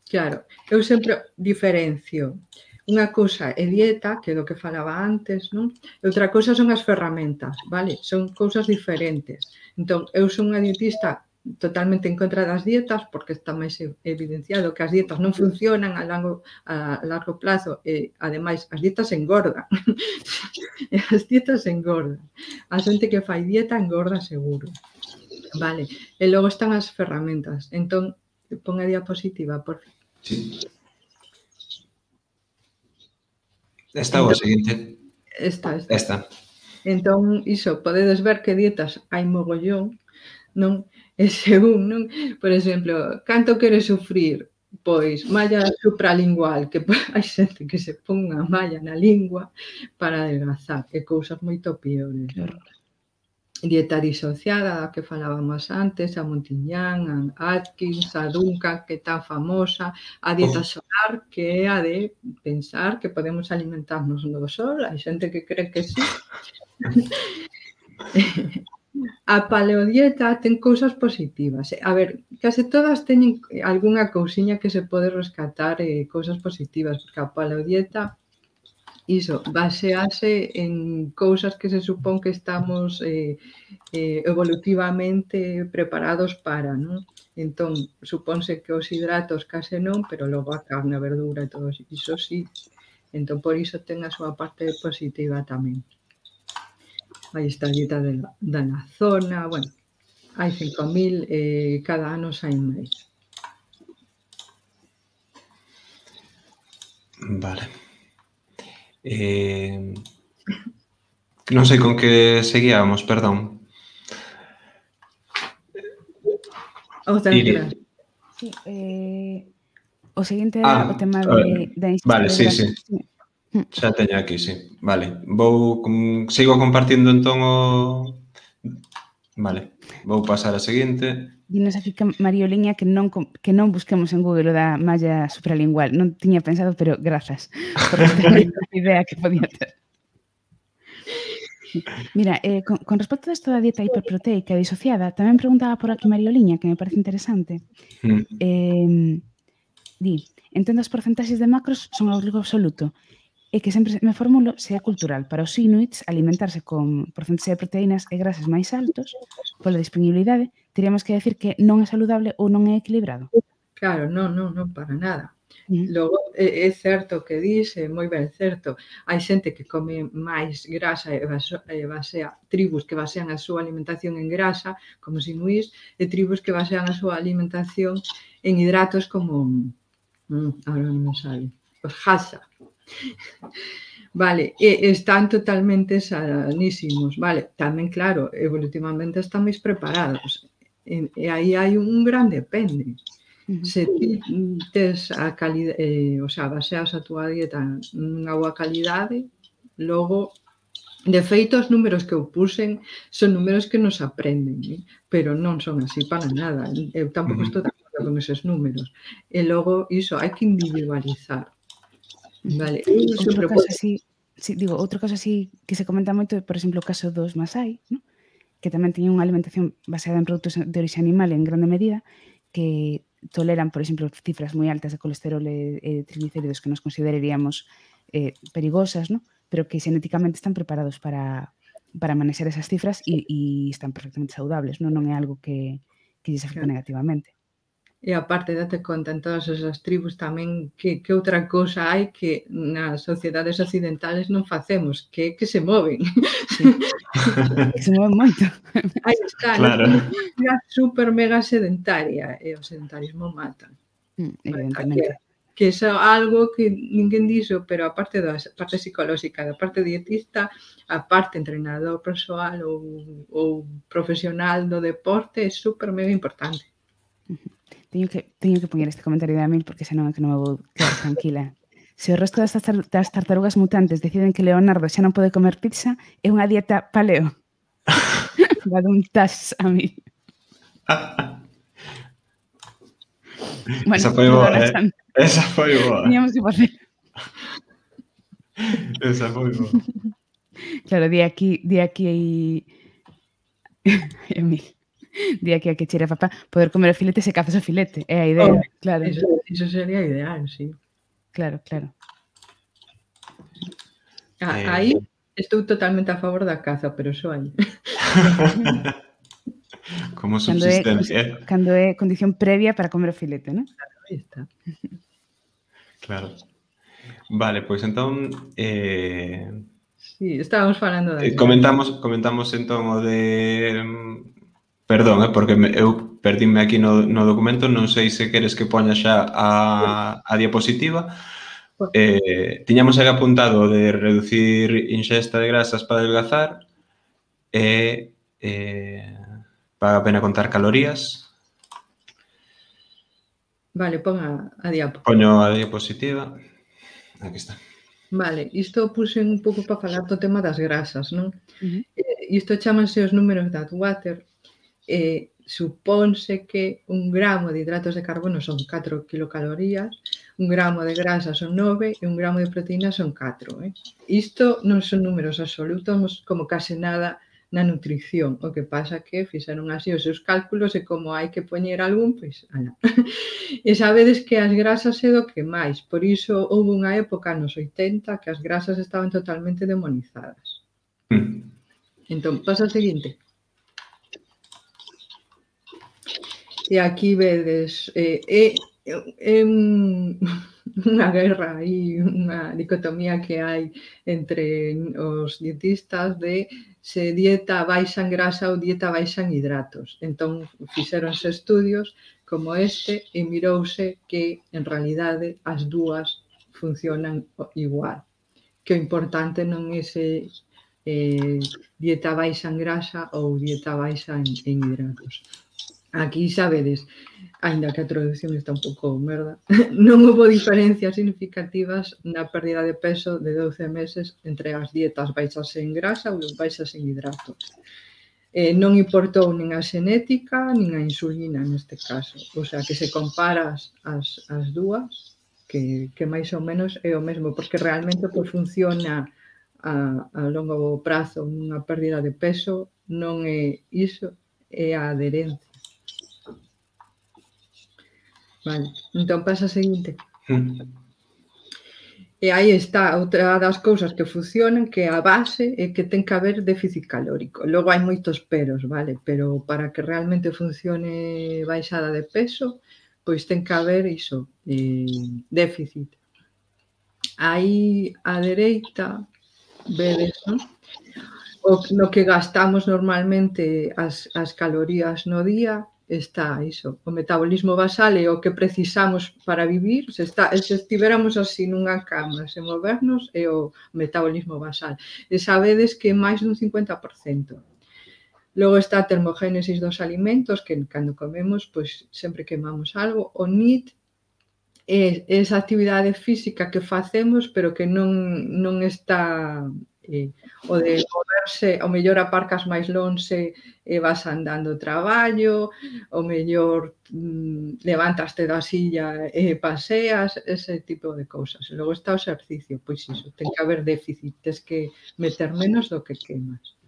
Claro, eu sempre diferencio. Unha cousa é dieta, que é do que falaba antes, non? E outra cousa son as ferramentas, vale? Son cousas diferentes. Entón, eu son unha dietista totalmente en contra das dietas, porque está máis evidenciado que as dietas non funcionan a largo plazo e, ademais, as dietas engordan. As dietas engordan. A xente que fai dieta engorda seguro. Vale. E logo están as ferramentas. Entón, pon a diapositiva, por favor. Sí. Esta ou a seguinte? Esta. Entón, iso, podedes ver que dietas hai mogollón, non? E según, non? Por exemplo, canto queres sufrir? Pois malla supralingual, que hai xente que se pon unha malla na lingua para adelgazar, e cousas moito piores. Dieta disociada, da que falábamos antes, a Montiñán, a Atkins, a Duncan, que é tan famosa, a dieta solar, que é a de pensar que podemos alimentarnos no sol, hai xente que cree que sí. A paleodieta ten cousas positivas. A ver, case todas teñen algunha cousiña que se pode rescatar, cousas positivas, porque a paleodieta, iso, basease en cousas que se supón que estamos evolutivamente preparados para, non? Entón, supónse que os hidratos case non, pero logo a carne, a verdura e todo iso sí. Entón, por iso ten a súa parte positiva tamén. Aí está a dieta da zona, bueno, hai 5.000, cada ano saen máis. Vale. Non sei con que seguíamos, perdón. Outra. Sí, o seguinte era o tema da ingesta. Vale, sí. Xa teño aquí, sí. Vale. Sigo compartindo entón o... Vale. Vou pasar a seguinte. Dinos aquí que Marioliña que non busquemos en Google o da malla supralingual. Non tiña pensado, pero grazas por esta idea que podía ter. Mira, con respecto a isto da dieta hiperproteica disociada, tamén preguntaba por aquí Marioliña, que me parece interesante. Entendo as porcentaxes de macros son obrigo absoluto, e que sempre me formulo se é cultural. Para os inuits, alimentarse con porcentaxe de proteínas e grasas máis altos, pola disponibilidade, teríamos que decir que non é saludable ou non é equilibrado. Claro, non, para nada. Logo, é certo que dis, é moi ben certo. Hai xente que come máis grasa e basea, tribus que basean a súa alimentación en grasa, como os inuís, e tribus que basean a súa alimentación en hidratos como, agora non me sale, os Hadza. Vale, están totalmente sanísimos, vale, tamén claro, evolutivamente están máis preparados, e aí hai un gran depende. Se ti tes a calidade, o sea, baseas a túa dieta nunha boa calidade, logo, de feito, os números que eu puxen son números que nos aprenden, pero non son así para nada, eu tampouco estou de acordo con eses números, e logo, iso, hai que individualizar. Vale. Outro caso así que se comenta moito é, por exemplo, o caso dos Masai, ¿no? Que tamén teñen unha alimentación baseada en produtos de orixe animal en grande medida, que toleran, por exemplo, cifras moi altas de colesterol e triglicéridos que nos consideraríamos perigosas, ¿no? Pero que xenéticamente están preparados para manexar esas cifras e están perfectamente saudables, non é algo que lles afecta negativamente. E aparte, date conta, en todas esas tribus tamén que outra cousa hai que nas sociedades occidentales non facemos, que se moven. Que se moven moito. Aí está, claro. Unha super mega sedentaria, e o sedentarismo mata. Evidentemente. Que é algo que ninguén dixo, pero a parte da parte psicolóxica, da parte dietista, a parte entrenador persoal ou profesional do deporte é super mega importante. Teño que poñer este comentario de Amil porque senón é que non me vou quedar tranquila. Se o resto das tartarugas mutantes deciden que Leonardo xa non pode comer pizza, é unha dieta paleo. Va dun tas a mí. Bueno, Esa foi boa, perdona, Sandra. Esa foi boa. Teníamos que facer. Esa foi boa. Claro, di aquí a mí. Di aquí a que cheira papá poder comer o filete se cazas o filete. É a idea, claro. Eso sería ideal, sí. Claro, claro. Aí estou totalmente a favor da caza, pero só aí. Como subsistencia. Cando é condición previa para comer o filete, non? Aí está. Claro. Vale, pois entón Sí, estábamos falando da comentamos entón o de perdón, porque eu perdíme aquí no documento, non sei se queres que poña xa a diapositiva. Tiñamos aí apuntado de reducir inxesta de grasas para adelgazar e paga a pena contar calorías. Vale, pon a diapo. Poño a diapositiva. Aquí está. Vale, isto puse un pouco para falar do tema das grasas, non? Isto chámanse os números de Atwater. Supónse que 1 gramo de hidratos de carbono son 4 kilocalorías, 1 gramo de grasa son 9 e 1 gramo de proteína son 4. Isto non son números absolutos como case nada na nutrición. O que pasa que fixeron así os seus cálculos e como hai que poñer algún, pois, ala. E sabedes que as grasas é do que máis. Por iso houve unha época nos 80 que as grasas estaban totalmente demonizadas. Entón, pasa o seguinte. E aquí vedes, unha guerra aí, unha dicotomía que hai entre os dietistas de se dieta baixa en grasa ou dieta baixa en hidratos. Entón, fixeronse estudios como este e mirouse que, en realidade, as dúas funcionan igual. Que o importante non é se dieta baixa en grasa ou dieta baixa en hidratos. Aquí, sabedes, aínda que a traducción está un pouco merda, non houve diferencias significativas na pérdida de peso de 12 meses entre as dietas baixas en grasa ou baixas en hidratos. Non importou nin a xenética nin a insulina neste caso. O sea, que se comparas as dúas, que máis ou menos é o mesmo, porque realmente pois, funciona a longo prazo nunha pérdida de peso, non é iso, é a adherencia. Vale, entón pasa a seguinte. E aí está outra das cousas que funcionan, que a base é que ten que haber déficit calórico. Logo hai moitos peros, vale? Pero para que realmente funcione baixada de peso, pois ten que haber iso, déficit. Aí á dereita, vedes, non? No que gastamos normalmente as calorías no día, está iso, o metabolismo basal é o que precisamos para vivir, se estiveramos así nunha cama, sen movernos, é o metabolismo basal. E sabedes que é máis dun 50%. Logo está a termogénesis dos alimentos, que cando comemos, pois sempre quemamos algo. O NEAT é esa actividade física que facemos, pero que non está... o de moverse, o mellor aparcas máis lonxe e vas andando ao traballo, o mellor levantaste da silla e paseas, ese tipo de cousas. Logo está o exercicio, pois iso, ten que haber déficit, tens que meter menos do que quemas.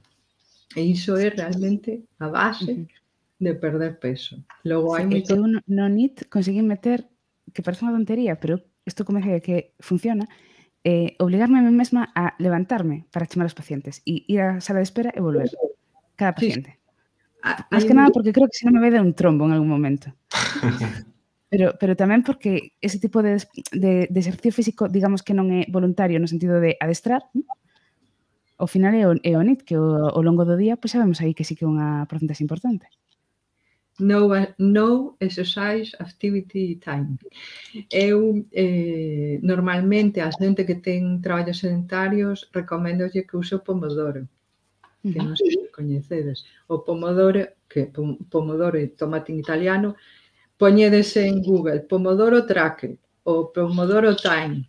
E iso é realmente a base de perder peso. Logo hai moito... Eu no NEAT consegui meter, que parece unha tontería, pero isto comece a que funciona, obligarme a mí mesma a levantarme para chamar aos pacientes e ir á sala de espera e volver. Cada paciente. Más que nada porque creo que se non me vai dar un trombo en algún momento. Pero tamén porque ese tipo de exercicio físico, digamos que non é voluntario no sentido de adestrar, ao final é o NEAT, que ao longo do día, pois sabemos aí que sí que é unha porcentaxe importante. No exercise activity time. Eu, normalmente, a xente que ten traballos sedentarios, recomendolle que use o Pomodoro, que non sei se coñecedes. O Pomodoro, que Pomodoro é tomate en italiano, poñedes en Google Pomodoro Tracker ou Pomodoro Time,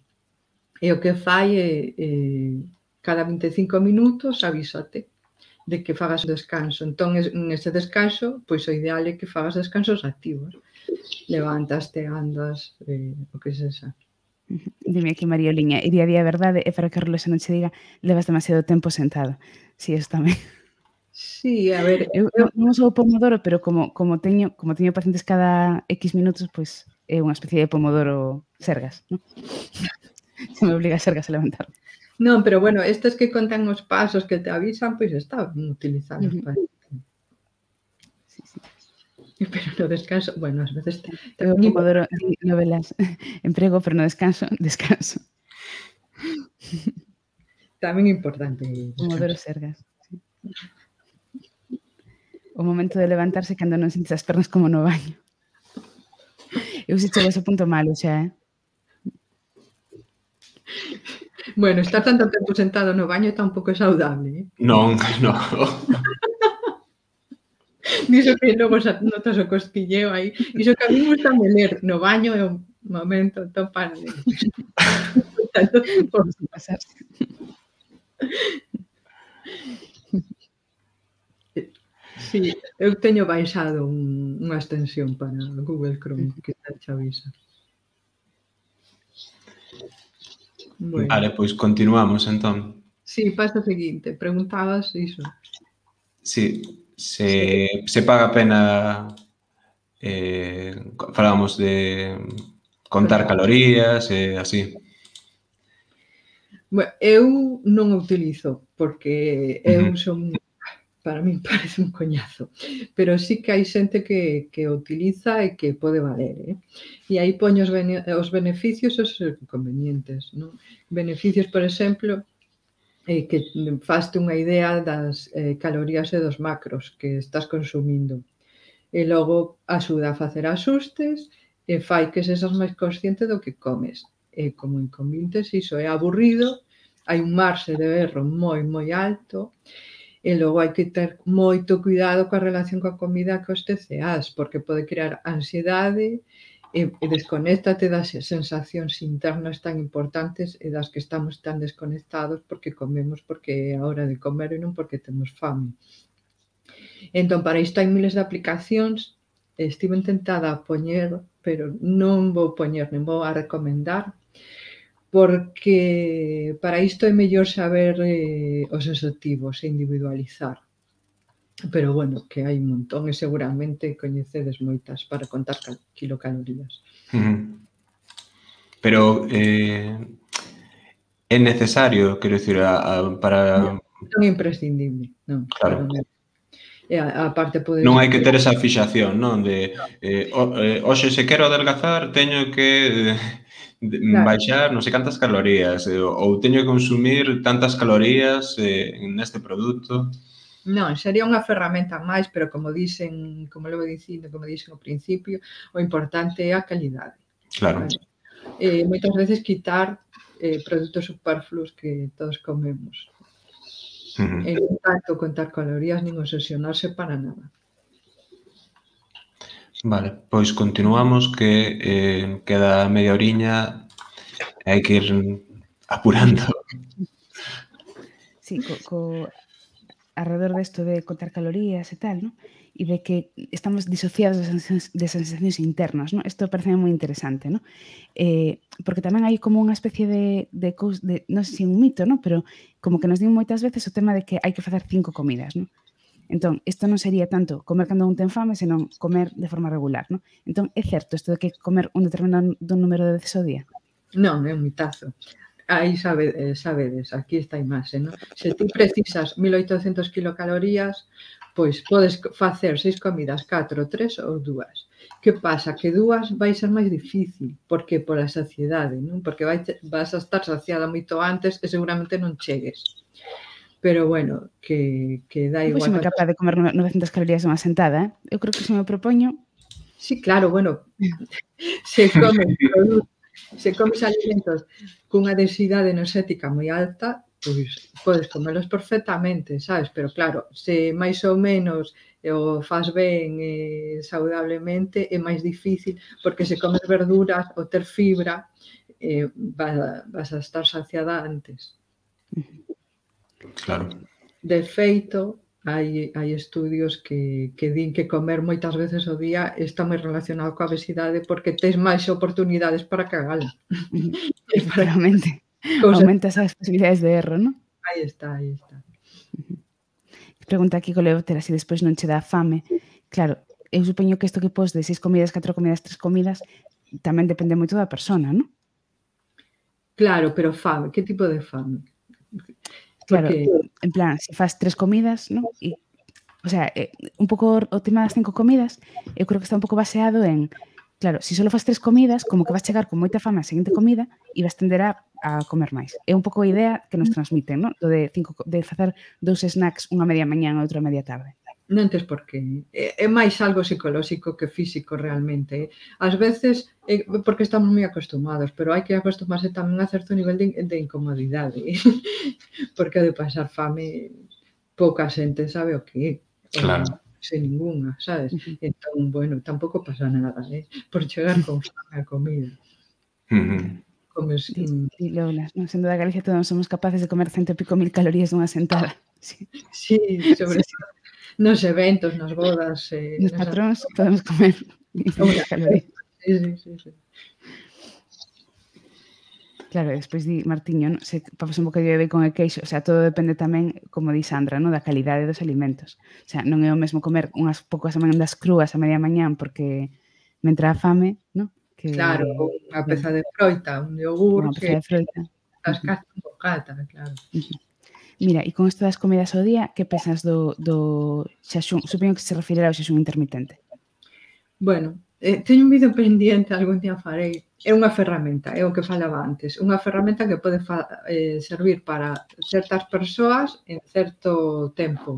e o que fai é cada 25 minutos avísate. de que fagas descanso. Entón, nese descanso, pois o ideal é que fagas descansos activos. Levantaste, andas, o que sexa. Dime aquí, Marioliña, e día a día verdade é para que a reloxa non che diga levas demasiado tempo sentado. Si, eso tamén. Sí, a ver, Eu non uso o pomodoro, pero como teño pacientes cada X minutos, pois é unha especie de pomodoro sergas, non? Se me obliga a sergas a levantar. non, pero bueno, estes que contan os pasos que te avisan, pois está utilizados para isto. Sí, sí. Pero no descanso, bueno, ás veces Eu o pomodoro, di novelas, emprego, pero no descanso, descanso. tamén é importante Pomodoro descansar. sergas. Sí. O momento de levantarse cando non sentes as pernas como no baño. Eu se chego a ese punto malo xa, Bueno, estar tanto tempo sentado no baño tampouco é saudable, Non, non. Diso que logo notas o cosquilleo aí. Iso que a mí gusta ler no baño é un momento topan. Vamos a pasarse. Sí, eu teño baixado unha extensión para Google Chrome que te avisa. Bueno. Vale, pois continuamos entón. Sí, pasa o seguinte, preguntabas iso. Sí, se paga a pena falábamos de contar calorías e así. Bueno, eu non o utilizo porque eu son, para min parece un coñazo, pero sí que hai xente que o utiliza e que pode valer, E aí poño os beneficios e os inconvenientes, non? Beneficios, por exemplo, que faste unha idea das calorías e dos macros que estás consumindo. E logo axuda a facer axustes e fai que sexas máis consciente do que comes. E como inconvenientes, iso é aburrido, hai un marxe de erro moi, moi alto, e logo hai que ter moito cuidado coa relación coa comida que os TCAs, porque pode crear ansiedade e desconéctate das sensacións internas tan importantes e das que estamos tan desconectados porque comemos porque é a hora de comer e non porque temos fame. Entón, para isto hai miles de aplicacións, estive tentada a poñer, pero non vou poñer, nem vou a recomendar, porque para isto é mellor saber os obxectivos e individualizar. Pero bueno, que hai un montón e seguramente coñecedes moitas para contar kilocalorías. Pero é necesario, quero dicir, para... Non é imprescindible, non. Claro. E a parte pode... Non hai que ter esa fixación, non? De, hoxe se quero adelgazar, teño que baixar non sei cantas calorías, ou teño que consumir tantas calorías neste produto. Non, sería unha ferramenta máis, pero como dicen, como levo dicindo, como dixen ao principio, o importante é a calidade. Claro. Moitas veces quitar produtos superfluos que todos comemos. E non tanto contar calorías nin obsesionarse para nada. Vale, pois continuamos que queda media oriña e hai que ir apurando. Sí, alrededor desto de contar calorías e tal, ¿no? E de que estamos disociados de sensacións internas, ¿no? Isto parece moi interesante, ¿no? Porque tamén hai como unha especie de non sei se un mito, ¿no? Pero como que nos din moitas veces o tema de que hai que facer 5 comidas, ¿no? Entón, isto non sería tanto comer cando un ten fame, senón comer de forma regular, ¿no? Entón, é certo isto de que comer un determinado número de veces ao día? Non, é un mitazo. Aí sabedes, aquí está a imaxe, non? Se ti precisas 1800 kilocalorías, pois podes facer 6 comidas, 4, 3 ou 2. Que pasa? Que 2 vai ser máis difícil, porque pola saciedade, non? Porque vas a estar saciada moito antes e seguramente non chegues. Pero bueno, que dá igual. Pois me capaz de comer 900 calorías unha sentada, Eu creo que se me propoño... Sí, claro, bueno, se comes alimentos cunha densidade enerxética moi alta, pois podes comelos perfectamente, sabes? Pero claro, se máis ou menos o faz ben saudablemente, é máis difícil, porque se comes verduras ou ter fibra, vas a estar saciada antes. Claro. De feito, hai estudios que din que comer moitas veces ao día está moi relacionado coa obesidade porque tes máis oportunidades para cagala. Efectivamente. Cousa, Aumentas as posibilidades de erro, non? aí está, aí está. Pregunta aquí Coleóptera se despois non che dá fame. Claro, eu supoño que isto que pos de 6 comidas, 4 comidas, 3 comidas tamén depende moito da persona, non? Claro, pero fame, que tipo de fame? Claro, Porque, en plan, se fas 3 comidas, non? E, o sea, un pouco o tema das 5 comidas, eu creo que está un pouco baseado en, claro, se só fas 3 comidas, como que vas chegar con moita fame á seguinte comida e vas tender a comer máis. É un pouco a idea que nos transmiten, non? Do de facer 2 snacks, unha media mañán e outra media tarde. non tes por qué. É máis algo psicolóxico que físico realmente. Ás veces, porque estamos moi acostumados, pero hai que acostumarse tamén a certo nivel de incomodidade. Porque de pasar fame, pouca xente sabe o que é. Claro. Sen ninguna, sabes? Entón, bueno, tampouco pasa nada, por chegar con fame a comida. Comes... Di Lola, non? Sendo da Galicia todos somos capaces de comer 100 e pico mil calorías dunha sentada. Sí, sobre todo nos eventos, nas bodas... Nos patróns podemos comer 100 calorías. Sí. Claro, despois di Martiño, non? Se papas un bocadillo de bacon e queixo, o sea, todo depende tamén, como di Sandra, non? Da calidade dos alimentos. O sea, non é o mesmo comer unhas poucas amandas crúas a media mañán porque me entra a fame, non? Que... Claro, unha peza de froita, un yogur, unha peza de froita. As casas un bocata, claro. Mira, e con isto das comidas ao día, que pensas do xaxún? Supoño que se refirera ao xaxún intermitente. Bueno, teño un vídeo pendiente, algún día farei. É unha ferramenta, é o que falaba antes. Unha ferramenta que pode servir para certas persoas en certo tempo.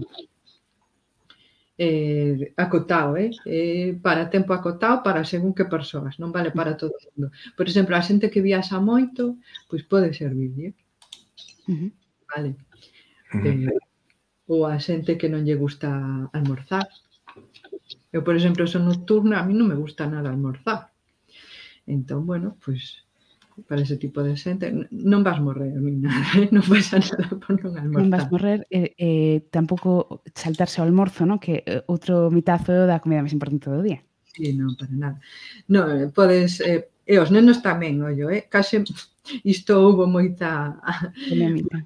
Acotado, para tempo acotado para según que persoas, non vale para todo o mundo. Por exemplo, a xente que viaxa moito, pois pode servir, vale? Ou a xente que non lle gusta almorzar. Eu, por exemplo, son nocturna, a mí non me gusta nada almorzar. Entón, bueno, pois para ese tipo de xente non vas morrer ni nada, non pasa nada por non almorzar. Non vas morrer tampouco saltarse ao almorzo, non? Que outro mitazo da comida máis importante do día. Sí, non, para nada. Non, podes... E os nenos tamén, ollo, case isto houve moita polémica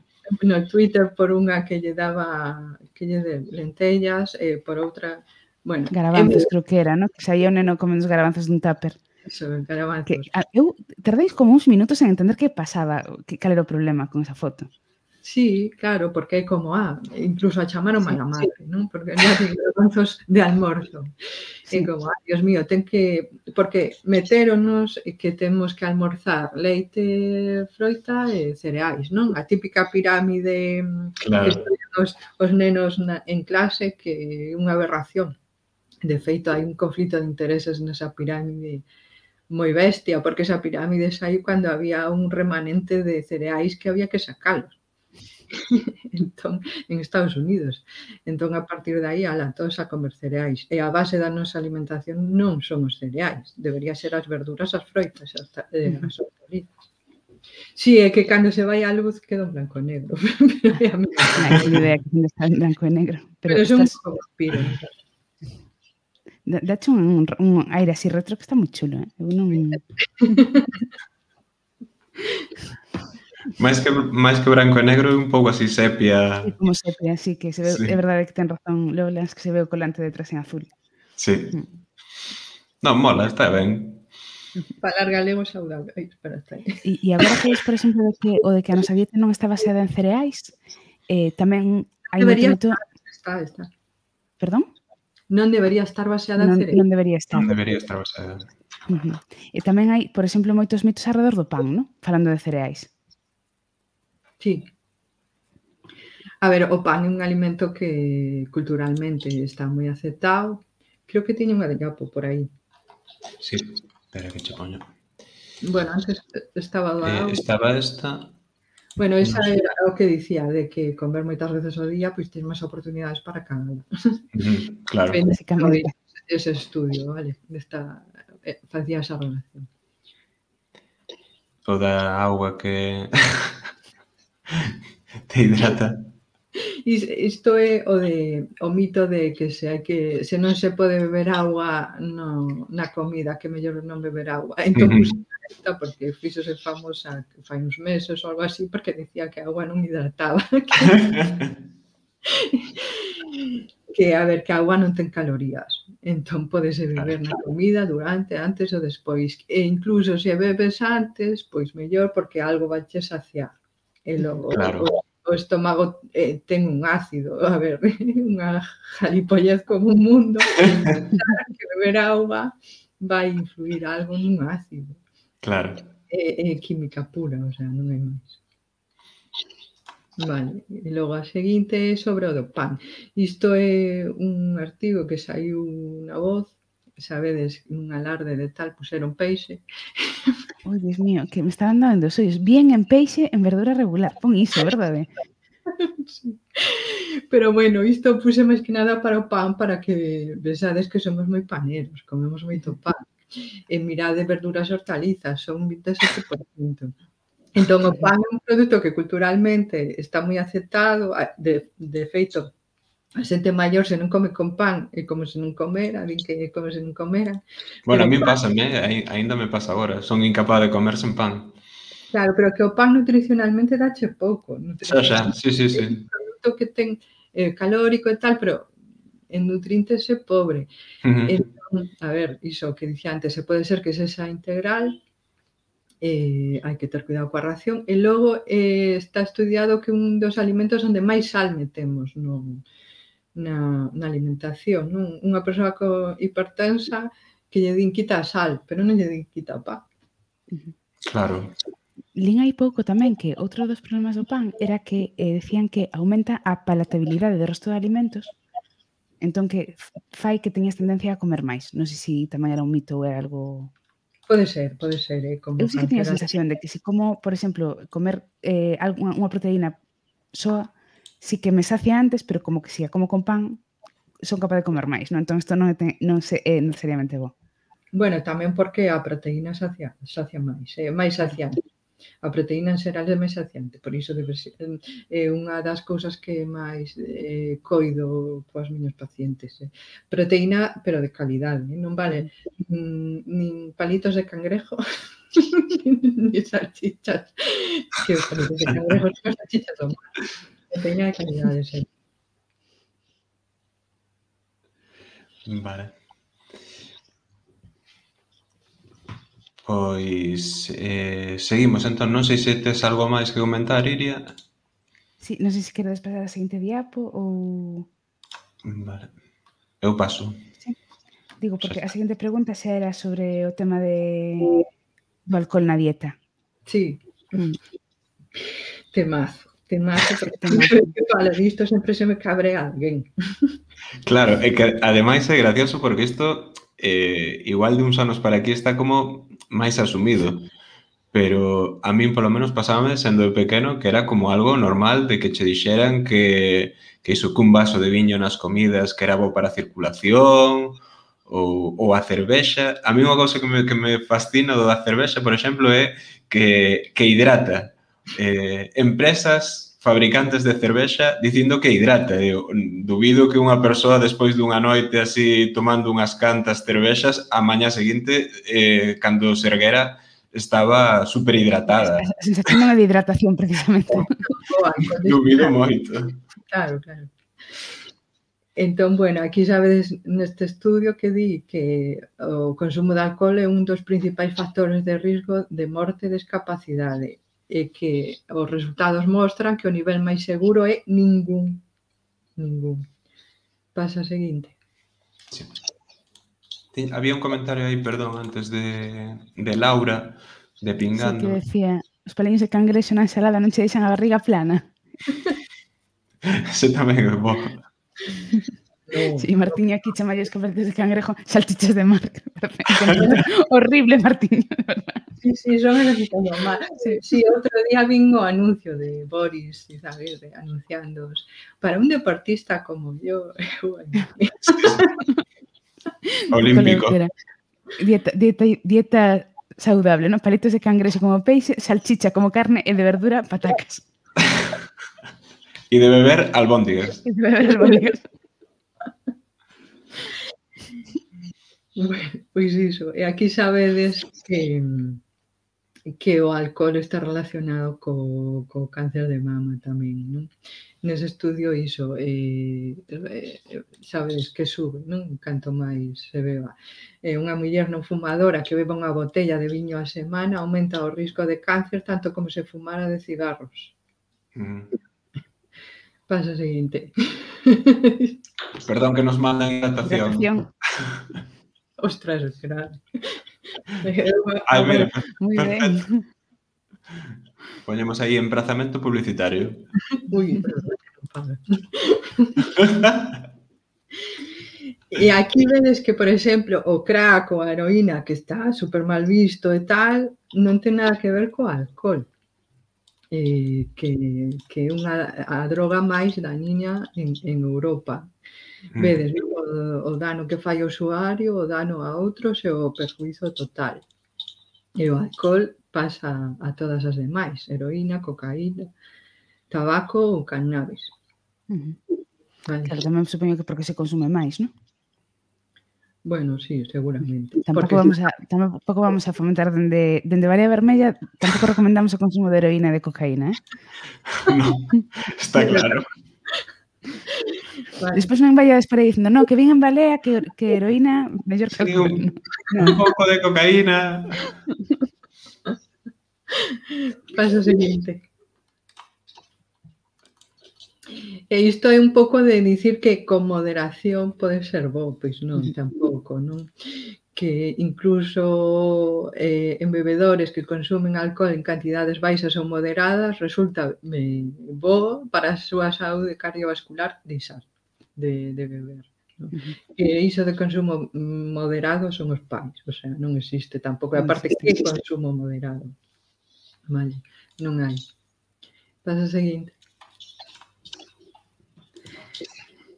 no Twitter por unha que lle daba de lentellas e por outra, bueno, garabanzos creo que era, non? Que saía o neno comendo os garabanzos dun tupper. Eso, garabanzos. Eu tardei como uns minutos en entender que pasaba, cal era o problema con esa foto. Sí, claro, porque é como, incluso a chamaron mala madre, non? Porque non hai garabanzos de almorzo. É como, Dios mío, porque metéronos que temos que almorzar leite, froita e cereais, non? A típica pirámide que estudian os nenos en clase, que é unha aberración. De feito, hai un conflito de intereses nesa pirámide moi bestia, porque esa pirámide saiu cando había un remanente de cereais que había que sacalos. Entón, en Estados Unidos. Entón, a partir de aí, todos a comer cereais. E a base da nosa alimentación non son os cereais. Debería ser as verduras, as froitas, as hortalizas. Sí, é que cando se vai a luz queda en blanco e negro. Non hai idea que está en blanco e negro. Pero son un pouco vampiro. Dache un aire así retro que está moi chulo, Eu non... máis que branco e negro, un pouco así sepia. Sí, como sepia, sí, que se ve, é verdade que ten razón Lola, que se ve o colante detrás en azul. Sí. Non, mola, está ben. Falar galego saudable. Ai, espera, está aí. E agora que por exemplo, o de que a nosa dieta non está baseada en cereais, tamén hai moito... Está. Perdón? Non debería estar baseada en cereais. Non debería estar. Non debería estar baseada. E tamén hai, por exemplo, moitos mitos alrededor do pan, non? Falando de cereais. Sí. A ver, o pan é un alimento que culturalmente está moi aceptado. Creo que tiña unha de Yapo por aí. Sí, espera que che poño. Bueno, antes estaba do audio. Estaba esta... Bueno, esa era o que dicía, de que comer moitas veces ao día, pois tens máis oportunidades para cagar. Claro. Básicamente. Ese estudio, vale? Facía esa relación. O da auga que te hidrata. Isto é o mito de que se non se pode beber agua na comida, que mellor non beber agua. Entón, esta porque fíxose famosa fai uns meses ou algo así, porque dicía que a agua non hidrataba. Que, a ver, que a auga non ten calorías. Entón, podese beber na comida durante, antes ou despois. E incluso se bebes antes, pois mellor, porque algo vache saciar. E logo, o estómago ten un ácido. A ver, unha jalipollez como un mundo. Que beber auga vai influir algo nun ácido. Claro. É química pura, o sea, non é máis. Vale, e logo a seguinte é sobre o do pan. Isto é un artigo que saiu na Voz, sabedes, un alarde de tal, puseron peixe. Oi, Dios mío, que me estaban dando os ollos. Bien en peixe, en verdura regular. Pon iso, verdade? Sí. Pero bueno, isto puse máis que nada para o pan, para que pensades que somos moi paneros, comemos moito pan. E mirade verduras e hortalizas, son 27%. Entón, o pan é un produto que culturalmente está moi aceptado. De feito, a xente maior se non come con pan é como se non comera, din que é como se non comera. Bueno, a mí pásame, ainda me pasa agora. Son incapaz de comer sen pan. Claro, pero que o pan nutricionalmente dache pouco. Xa, sí. É un produto que ten calórico e tal, pero en nutrientes é pobre. Entón, a ver, iso que dicía antes, se pode ser que sexa integral, hai que ter cuidado coa ración, e logo está estudiado que un dos alimentos onde máis sal metemos na alimentación, non? Unha persoa hipertensa que lle din quita a sal, pero non lle din quita o pan. Claro. Lín hai pouco tamén que outro dos problemas do pan era que decían que aumenta a palatabilidade do resto de alimentos, entón que fai que teñas tendencia a comer máis. Non sei se tamén era un mito ou era algo... Pode ser, como eu sí que teño a sensación de que se como, por exemplo, comer unha proteína soa, sí que me sacia antes, pero como que se a como con pan, son capaz de comer máis, non? Entón, isto non é necesariamente bo. Bueno, tamén porque a proteína sacia máis, é máis saciante. A proteína en xeral é máis saciante, por iso debe ser unha das cousas que máis coido coas miños pacientes. Proteína, pero de calidade, non vale nin palitos de cangrejo, ni salchichas, que os palitos de cangrejo son as salchichas do mar. Proteína de calidade, sempre. Vale. Pois seguimos, entón, non sei se tes algo máis que comentar, Iria. Sí, non sei se queres pasar a seguinte diapo ou... Vale. Eu paso. Sí. Digo, porque a seguinte pregunta xa era sobre o tema do alcohol na dieta. Sí. Temazo, porque fala disto sempre se me cabrea alguén. Claro, é que ademais é gracioso porque isto igual de uns anos para aquí está como máis asumido, pero a min polo menos pasábame sendo pequeno que era como algo normal de que che dixeran que iso cun vaso de viño nas comidas que era bo para a circulación ou a cervexa. A mí unha cousa que me fascina do da cervexa, por exemplo, é que hidrata. Empresas fabricantes de cervexa dicindo que hidrata. Eu dubido que unha persoa despois dunha noite así tomando unhas cantas cervexas a mañá seguinte, cando se erguera, estaba super hidratada. A sensación non é de hidratación, precisamente. Dubido moito. Claro. Entón, bueno, aquí sabedes neste estudio que di que o consumo de alcohol é un dos principais factores de risco de morte e discapacidade, e que os resultados mostran que o nivel máis seguro é ningún. Pasa a seguinte. Sí. Había un comentario aí, perdón, antes de Laura, de Pingando. Sí, que decía, os paliños de cangrexo na ensalada non che deixan a barriga plana. Ese tamén é bo. Sí, Martín aquí chama os paliños de cangrejo salchichas de mar. Horrible, Martín, de verdad. Sí, son eles que están mal. Sí, outro día vin o anuncio de Boris, sabes, anunciando para un deportista como yo. Olímpico. Dieta saudable, ¿no? Palitos de cangrejo como peixe, salchicha como carne e de verdura, patacas. E de beber albóndigas. E de beber albóndigas. Bueno, pois iso. E aquí sabedes que o alcohol está relacionado co cáncer de mama tamén, non? Nese estudio iso, sabedes que sube, non? Canto máis se beba. Unha muller non fumadora que beba unha botella de viño a semana aumenta o risco de cáncer tanto como se fumara de cigarros. Pasa o seguinte. Perdón que nos mandan hidratación. Ostras, claro. Ai, mira, Moi ben. Poñemos aí emprazamento publicitario. Ui, perdón, non paga. E aquí vedes que, por exemplo, o crack ou a heroína, que está super mal visto e tal, non ten nada que ver co alcohol. Que é a droga máis dañina en Europa. Vedes o dano que fai o usuario, o dano a outros e o perjuízo total. E o alcohol pasa a todas as demais, heroína, cocaína, tabaco ou cannabis. Vale. Claro, tamén supoño que porque se consume máis, non? Bueno, sí, seguramente. Tampouco vamos a fomentar dende Varea Vermella, tampouco recomendamos o consumo de heroína e de cocaína, No, está claro. Vale. Despois non vayades por aí dicindo, no, que vin en Balea que heroína mellor que alcohol. Un pouco de cocaína. Paso seguinte. E isto é un pouco de dicir que con moderación pode ser bo, pois non, tampouco, non? Que incluso en bebedores que consumen alcohol en cantidades baixas ou moderadas resulta bo para a súa saúde cardiovascular deixar de beber. Non? E iso de consumo moderado son os pais, o sea, non existe tampouco. A parte que é consumo moderado. Vale, non hai. Pasa a seguinte.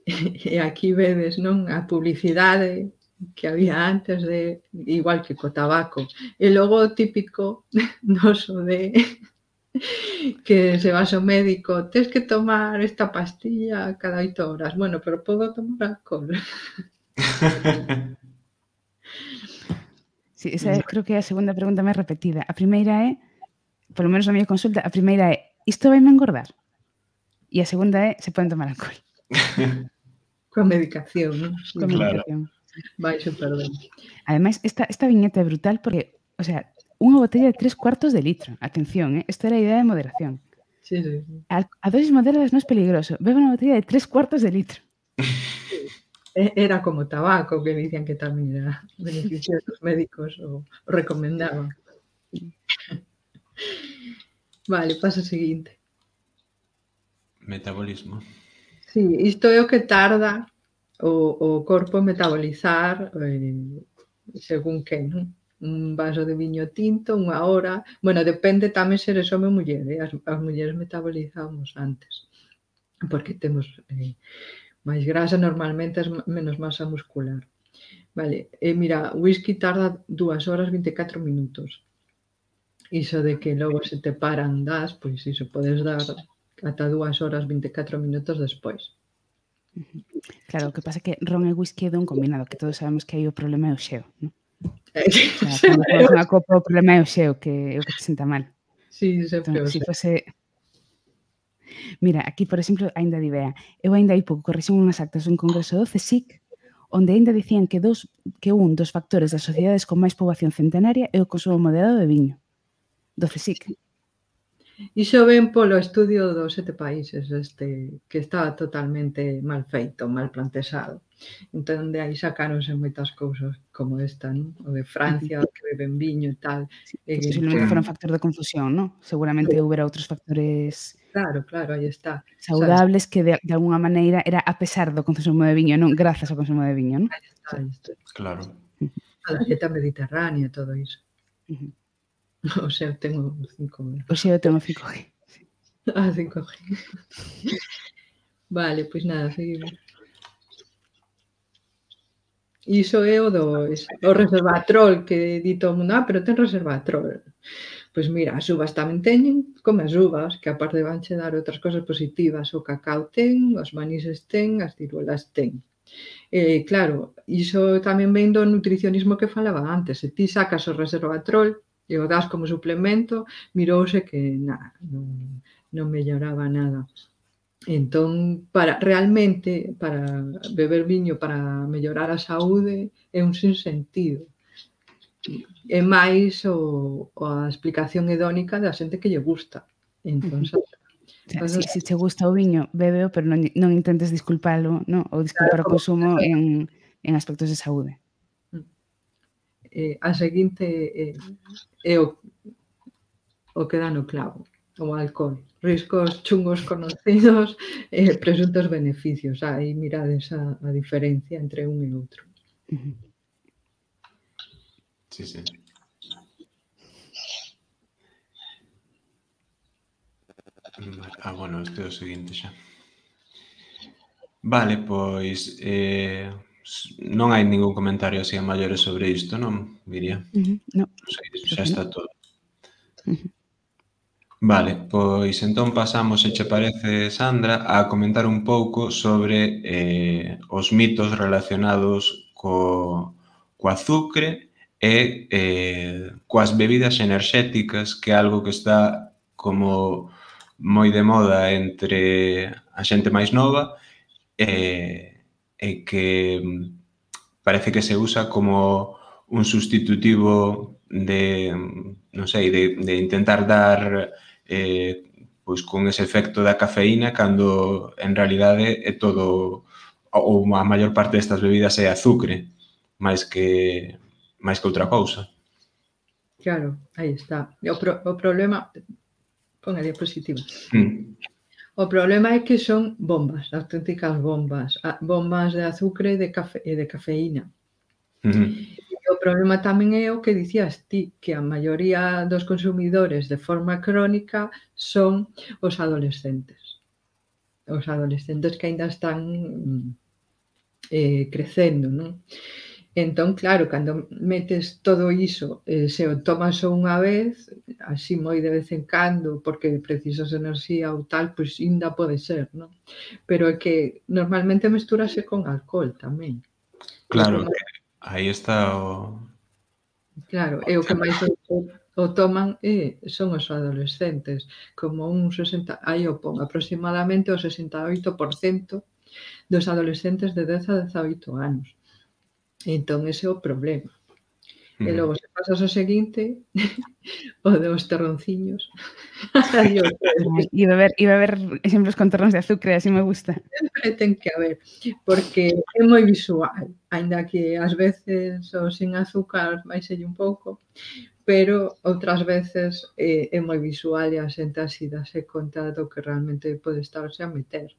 E aquí vedes, non, a publicidade que había antes de, igual que co tabaco. E logo o típico noso de que se vas ao médico, tens que tomar esta pastilla cada 8 horas. Bueno, pero podo tomar alcohol. Sí, esa creo que é a segunda pregunta máis repetida. A primeira é, polo menos na miña consulta, a primeira é, isto vai me engordar? E a segunda é, se poden tomar alcohol? Coa medicación, non? Coa medicación. Vai super ben. Ademais, esta viñeta é brutal porque, o sea, unha botella de 3/4 de litro. Atención, esta era a idea de moderación. Sí, sí. A dosis moderadas non é peligroso. Bebe unha botella de 3/4 de litro. Era como tabaco, que dicían que tamén era beneficioso, os médicos o recomendaban. Vale, paso seguinte. Metabolismo. Sí, isto é o que tarda o corpo metabolizar según que, non? Un vaso de viño tinto, 1 hora. Bueno, depende tamén se eres home ou muller, as mulleres metabolizamos antes, porque temos máis grasa, normalmente menos masa muscular. Vale, mira, o whisky tarda 2 horas 24 minutos. Iso de que logo se te paran das, pois iso podes dar ata 2 horas 24 minutos despois. Claro, o que pasa é que ron e whisky é dun combinado, que todos sabemos que aí o problema é o xeo, non? Cando tomas unha copa o problema é o xeo, que é o que te senta mal. Sí, sempre o xeo. Mira, aquí, por exemplo, aínda di Bea, eu aínda hai pouco corrixen unhas actas dun congreso do CSIC, onde aínda dicían que un dos factores das sociedades con máis poboación centenaria é o consumo moderado de viño. Do CSIC. Iso ven polo estudio dos 7 países, que estaba totalmente mal feito, mal plantexado. Entón, de aí sacáronse moitas cousas como esta, non? O de Francia, que beben viño e tal. Posiblemente fora un factor de confusión, non? Seguramente houbera outros factores... Claro, aí está. Saudables que de alguna maneira era a pesar do consumo de viño, non grazas ao consumo de viño, non? Aí está. Claro. A dieta mediterránea, todo iso. O sea, tengo 5G. O sea, eu tengo 5G. Ah, 5G. Vale, pois nada, seguimos. Iso é o resveratrol, que di todo o mundo, pero ten resveratrol. Pois mira, as uvas tamén teñen, come as uvas, que aparte vanche dar outras cosas positivas, o cacao ten, os manises ten, as ciruelas ten. Claro, iso tamén ven do nutricionismo que falaba antes. Se ti sacas o resveratrol e o das como suplemento, mirouse que non melloraba nada. Entón, realmente, para beber viño para mellorar a saúde é un sinsentido. É máis a explicación hedónica da xente que lle gusta. Entón, se che gusta o viño, bébeo, pero non intentes disculpalo, non? Ou disculpar o consumo en aspectos de saúde. A seguinte é o que dá no clavo, o alcohol. Riscos chungos conocidos, presuntos beneficios. Aí mirades a diferencia entre un e outro. Sí, sí. Bueno, este é o seguinte xa. Vale, pois non hai ningún comentario así a maiores sobre isto, non, Miria? Non. Xa está todo. Vale, pois entón pasamos, se che parece, Sandra, a comentar un pouco sobre os mitos relacionados co azucre e coas bebidas enerxéticas, que é algo que está como moi de moda entre a xente máis nova e que parece que se usa como un sustitutivo de, non sei, de intentar dar pois con ese efecto da cafeína, cando en realidade é todo, ou a maior parte destas bebidas é azucre, máis que outra cousa. Claro, aí está. O problema... Pon a diapositiva. O problema é que son bombas, auténticas bombas. Bombas de azucre e de cafeína. O problema tamén é o que dicías ti, que a maioría dos consumidores de forma crónica son os adolescentes. Os adolescentes que aínda están crecendo, non? Entón, claro, cando metes todo iso, se o tomas unha vez, así moi de vez en cando, porque precisas enerxía ou tal, pois ainda pode ser, non? Pero é que normalmente mestúrase con alcohol tamén. Claro, aí está o... Claro, e o que máis o toman son os adolescentes, como un 60, aí o pon, aproximadamente o 68% dos adolescentes de 10 a 18 anos. Entón, ese é o problema. E logo, se pasas ao seguinte, o dos terronciños. E beber exemplos con terróns de azucre, así me gusta. Sempre ten que haber, porque é moi visual, aínda que ás veces o sin azúcar baixelle un pouco, pero outras veces é moi visual e a xente así dase conta do que realmente pode estarse a meter.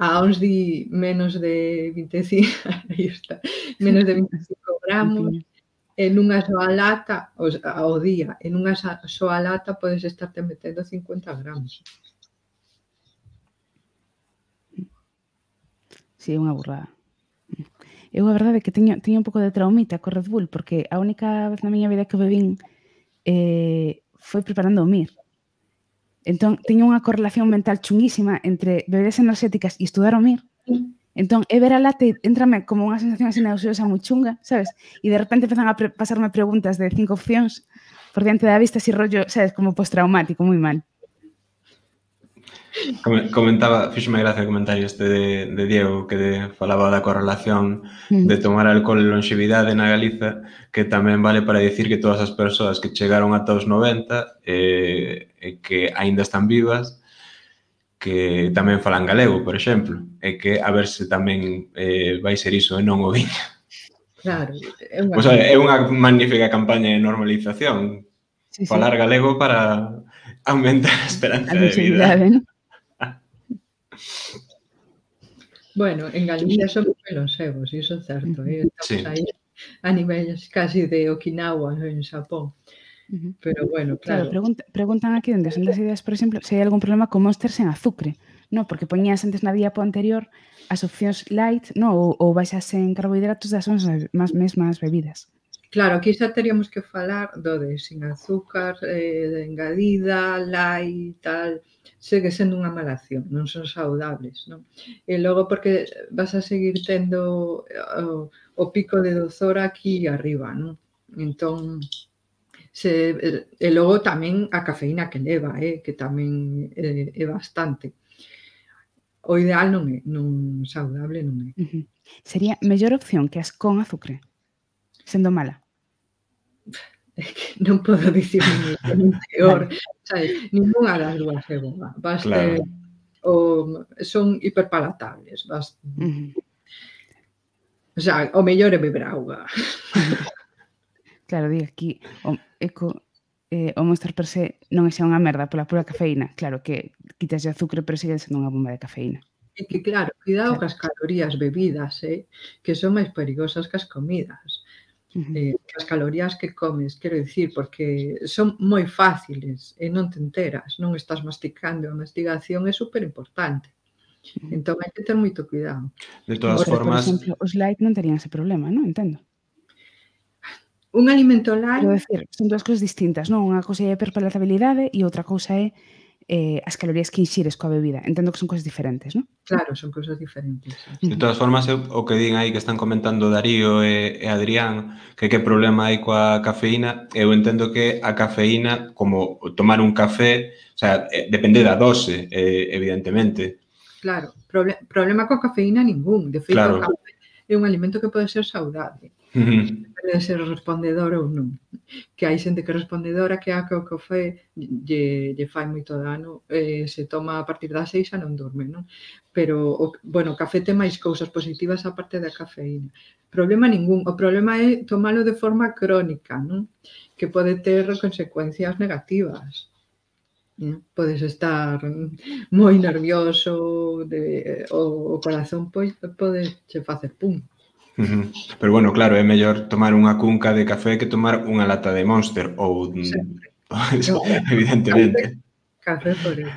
A uns di menos de 25, aí está, menos de 25 gramos, en unha soa lata, ao día, en unha soa lata podes estarte metendo 50 gramos. Sí, unha burrada. Eu a verdade é que teño un pouco de traumita co Red Bull, porque a única vez na miña vida que bebín foi preparando o MIR. Entón, teño unha correlación mental chunguísima entre bebidas enerxéticas e estudar o MIR. Entón, é ver a lata e entrame como unha sensación así nauseosa moi chunga, sabes? E de repente empezan a pasarme preguntas de 5 opcións por diante da vista, así rollo, sabes, como postraumático, moi mal. Comentaba, fíxome gracia o comentario este de Diego, que falaba da correlación de tomar alcohol e longevidade na Galiza, que tamén vale para dicir que todas as persoas que chegaron ata os 90 e que aínda están vivas, que tamén falan galego, por exemplo, e que a ver se tamén vai ser iso e non o viño. Claro. É unha magnífica campaña de normalización. Falar galego para aumentar a esperanza de vida. Bueno, en Galicia son moi longevos, iso é certo. Estamos aí a niveles casi de Okinawa en Xapón. Pero bueno, claro. Preguntan aquí dende son das ideas, por exemplo, se hai algún problema con Monster sen azúcre, non? Porque poñías antes na diapo anterior as opcións light, non? Ou baixas en carbohidratos das mesmas bebidas. Claro, aquí xa teríamos que falar do de sin azúcar, de engadida, light, tal, segue sendo unha mala acción, non son saudables, non? E logo porque vas a seguir tendo o pico de dozor aquí arriba, non? Entón, e logo tamén a cafeína que leva, que tamén é bastante. O ideal non é, non saudable non é. Sería mellor opción que as con azúcar, sendo mala. É que non podo dicir nin peor, sabes? Ninguna das dúas é boa. Claro. Son hiperpalatables. O sea, o mellor é beber auga. Claro, di aquí, o Monster per se non é xa unha merda pola pura cafeína. Claro que quitas de azúcar, pero sigue sendo unha bomba de cafeína. É que claro, cuidado cas calorías bebidas, que son máis perigosas que as comidas. As calorías que comes, quero dicir, porque son moi fáciles e non te enteras, non estás masticando. A mastigación é super importante. Entón hai que ter moito cuidado. De todas formas... Por exemplo, os light non terían ese problema, non? Entendo. Un alimento light... Quero decir, son dúas cousas distintas, non? Unha cousa é a hiperpalatabilidade e outra cousa é as calorías que inxires coa bebida. Entendo que son cousas diferentes, non? Claro, son cousas diferentes. De todas formas, o que din aí que están comentando Darío e Adrián, que problema hai coa cafeína, eu entendo que a cafeína, como tomar un café, o sea, depende da dose, evidentemente. Claro, problema coa cafeína ningún. De feito, o café é un alimento que pode ser saudable. Depende de ser respondedor ou non. Que hai xente que é respondedora, que o café lle fai moito dano, se toma a partir das 6 non dorme, non? Pero, bueno, o café ten máis cousas positivas a parte da cafeína. Problema ningún. O problema é tomalo de forma crónica, non? Que pode ter consecuencias negativas. Podes estar moi nervioso, o corazón pode che facer pum. Pero bueno, claro, é mellor tomar unha cunca de café que tomar unha lata de Monster ou... Evidentemente. Café por eso.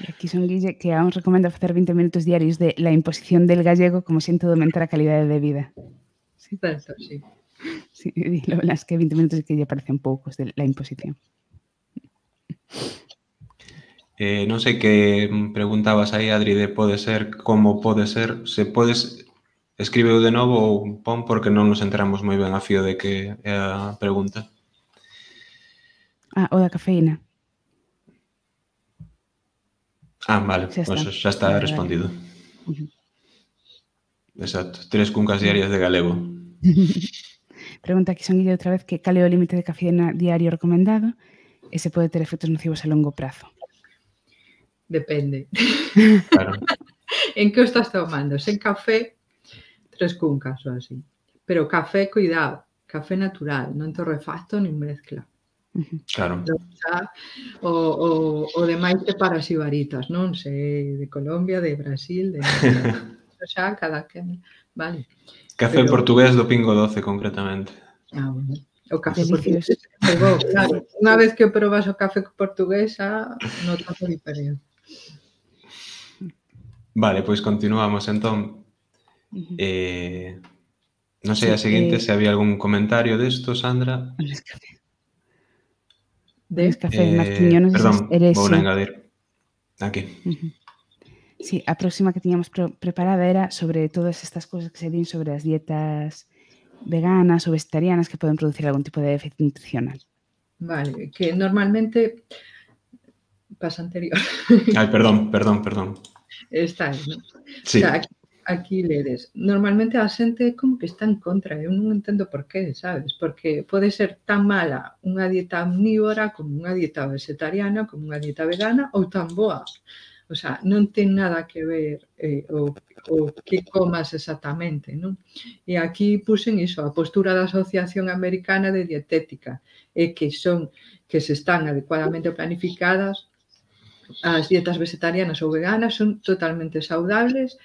Aquí son Guille que aún recomenda facer 20 minutos diarios de la imposición del gallego como xente de aumentar a calidade de vida. Certo, sí. Sí, lo verdad es que 20 minutos que lle parecen poucos de la imposición. Non sei que preguntabas aí, Adri, de pode ser, como pode ser, se podes, escríbeo de novo ou pon porque non nos enteramos moi ben a fío de que é a pregunta. O da cafeína. Vale, pois xa está respondido. Exacto, 3 cuncas diarias de galego. Pregunta aquí son Guille outra vez que cal é o límite de cafeína diario recomendado e se pode ter efectos nocivos a longo prazo. Depende. Claro. En que o estás tomando? Sen café, 3 cuncas ou así. Pero café, cuidado, café natural, non torrefacto nin mezcla. Claro. O demais te para xibaritas, non? Se de Colombia, de Brasil, de... xa, cada que... Vale. Café portugués do Pingo Doce, concretamente. Bueno. O café portugués. Claro, unha vez que probas o café portugués, notas a diferencia. Vale, pois continuamos, entón. Non sei a seguinte se había algún comentario desto, Sandra. Nescafé, Marquiño, non sei se eres... Perdón, vou engadir. Aquí. Sí, a próxima que tiñamos preparada era sobre todas estas cousas que se din sobre as dietas veganas ou vegetarianas que poden producir algún tipo de déficit nutricional. Vale, que normalmente pasa anterior. Perdón. Está aí, non? Sí. O sea, aquí ledes. Normalmente a xente como que está en contra, eu non entendo por qué, sabes? Porque pode ser tan mala unha dieta omnívora como unha dieta vegetariana, como unha dieta vegana ou tan boa. O sea, non ten nada que ver o que comas exactamente, non? E aquí puxen iso, a postura da Asociación Americana de Dietética, que se están adecuadamente planificadas. As dietas vegetarianas ou veganas son totalmente saudables,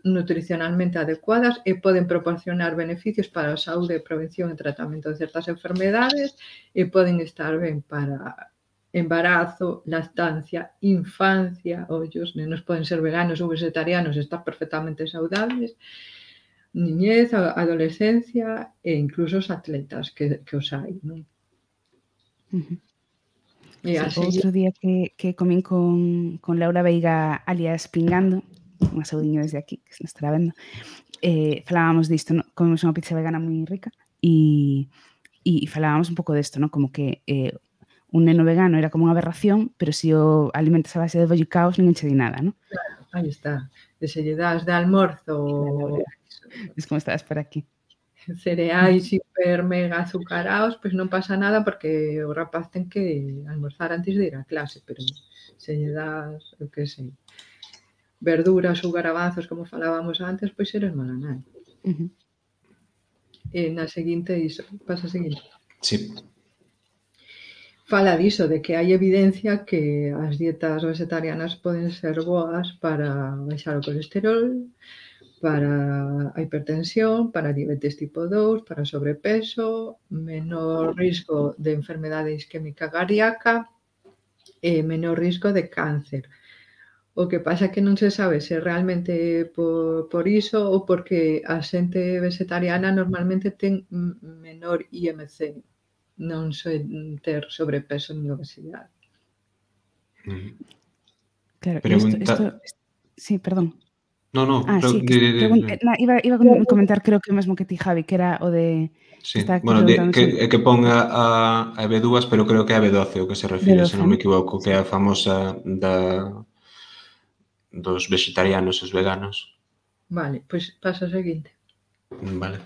nutricionalmente adecuadas e poden proporcionar beneficios para a saúde, prevención e tratamento de certas enfermedades e poden estar ben para embarazo, lactancia, infancia, os nenos poden ser veganos ou vegetarianos e estar perfectamente saudables. niñez, a adolescencia e incluso os atletas que os hai, non? E Sí, así, outro día que comín con Laura Veiga alias Pingando, unha saudiño desde aquí, que se nos estará vendo, falábamos disto, ¿no? Comemos unha pizza vegana moi rica e falábamos un pouco desto, ¿no? Como que un neno vegano era como unha aberración, pero se o alimentas a base de bollicaos ninguén che di nada, ¿no? aí está, de se lle das de almorzo Laura, es como estabas por aquí. cereais hiper mega azucarados, pois non pasa nada porque o rapaz ten que almorzar antes de ir á clase, pero se lle das, eu que sei, verduras ou garabazos, como falábamos antes, pois eres mala nai. E na seguinte, iso, pasa a seguinte. Sí. Fala diso, de que hai evidencia que as dietas vegetarianas poden ser boas para baixar o colesterol, para a hipertensión, para a diabetes tipo 2, para o sobrepeso, menor risco de enfermedade isquémica cardíaca e menor risco de cáncer. O que pasa é que non se sabe se realmente por iso ou porque a xente vegetariana normalmente ten menor IMC, non soe ter sobrepeso nin obesidade. Claro, Pregunta... Sí, perdón. No, sí, iba a comentar creo que o mesmo que ti, Javi, que era o de... Sí, bueno, que ponga a B2, pero creo que é a B12 o que se refire, se non me equivoco, que é a famosa dos vegetarianos e os veganos. Vale, pois pasa o seguinte. Vale.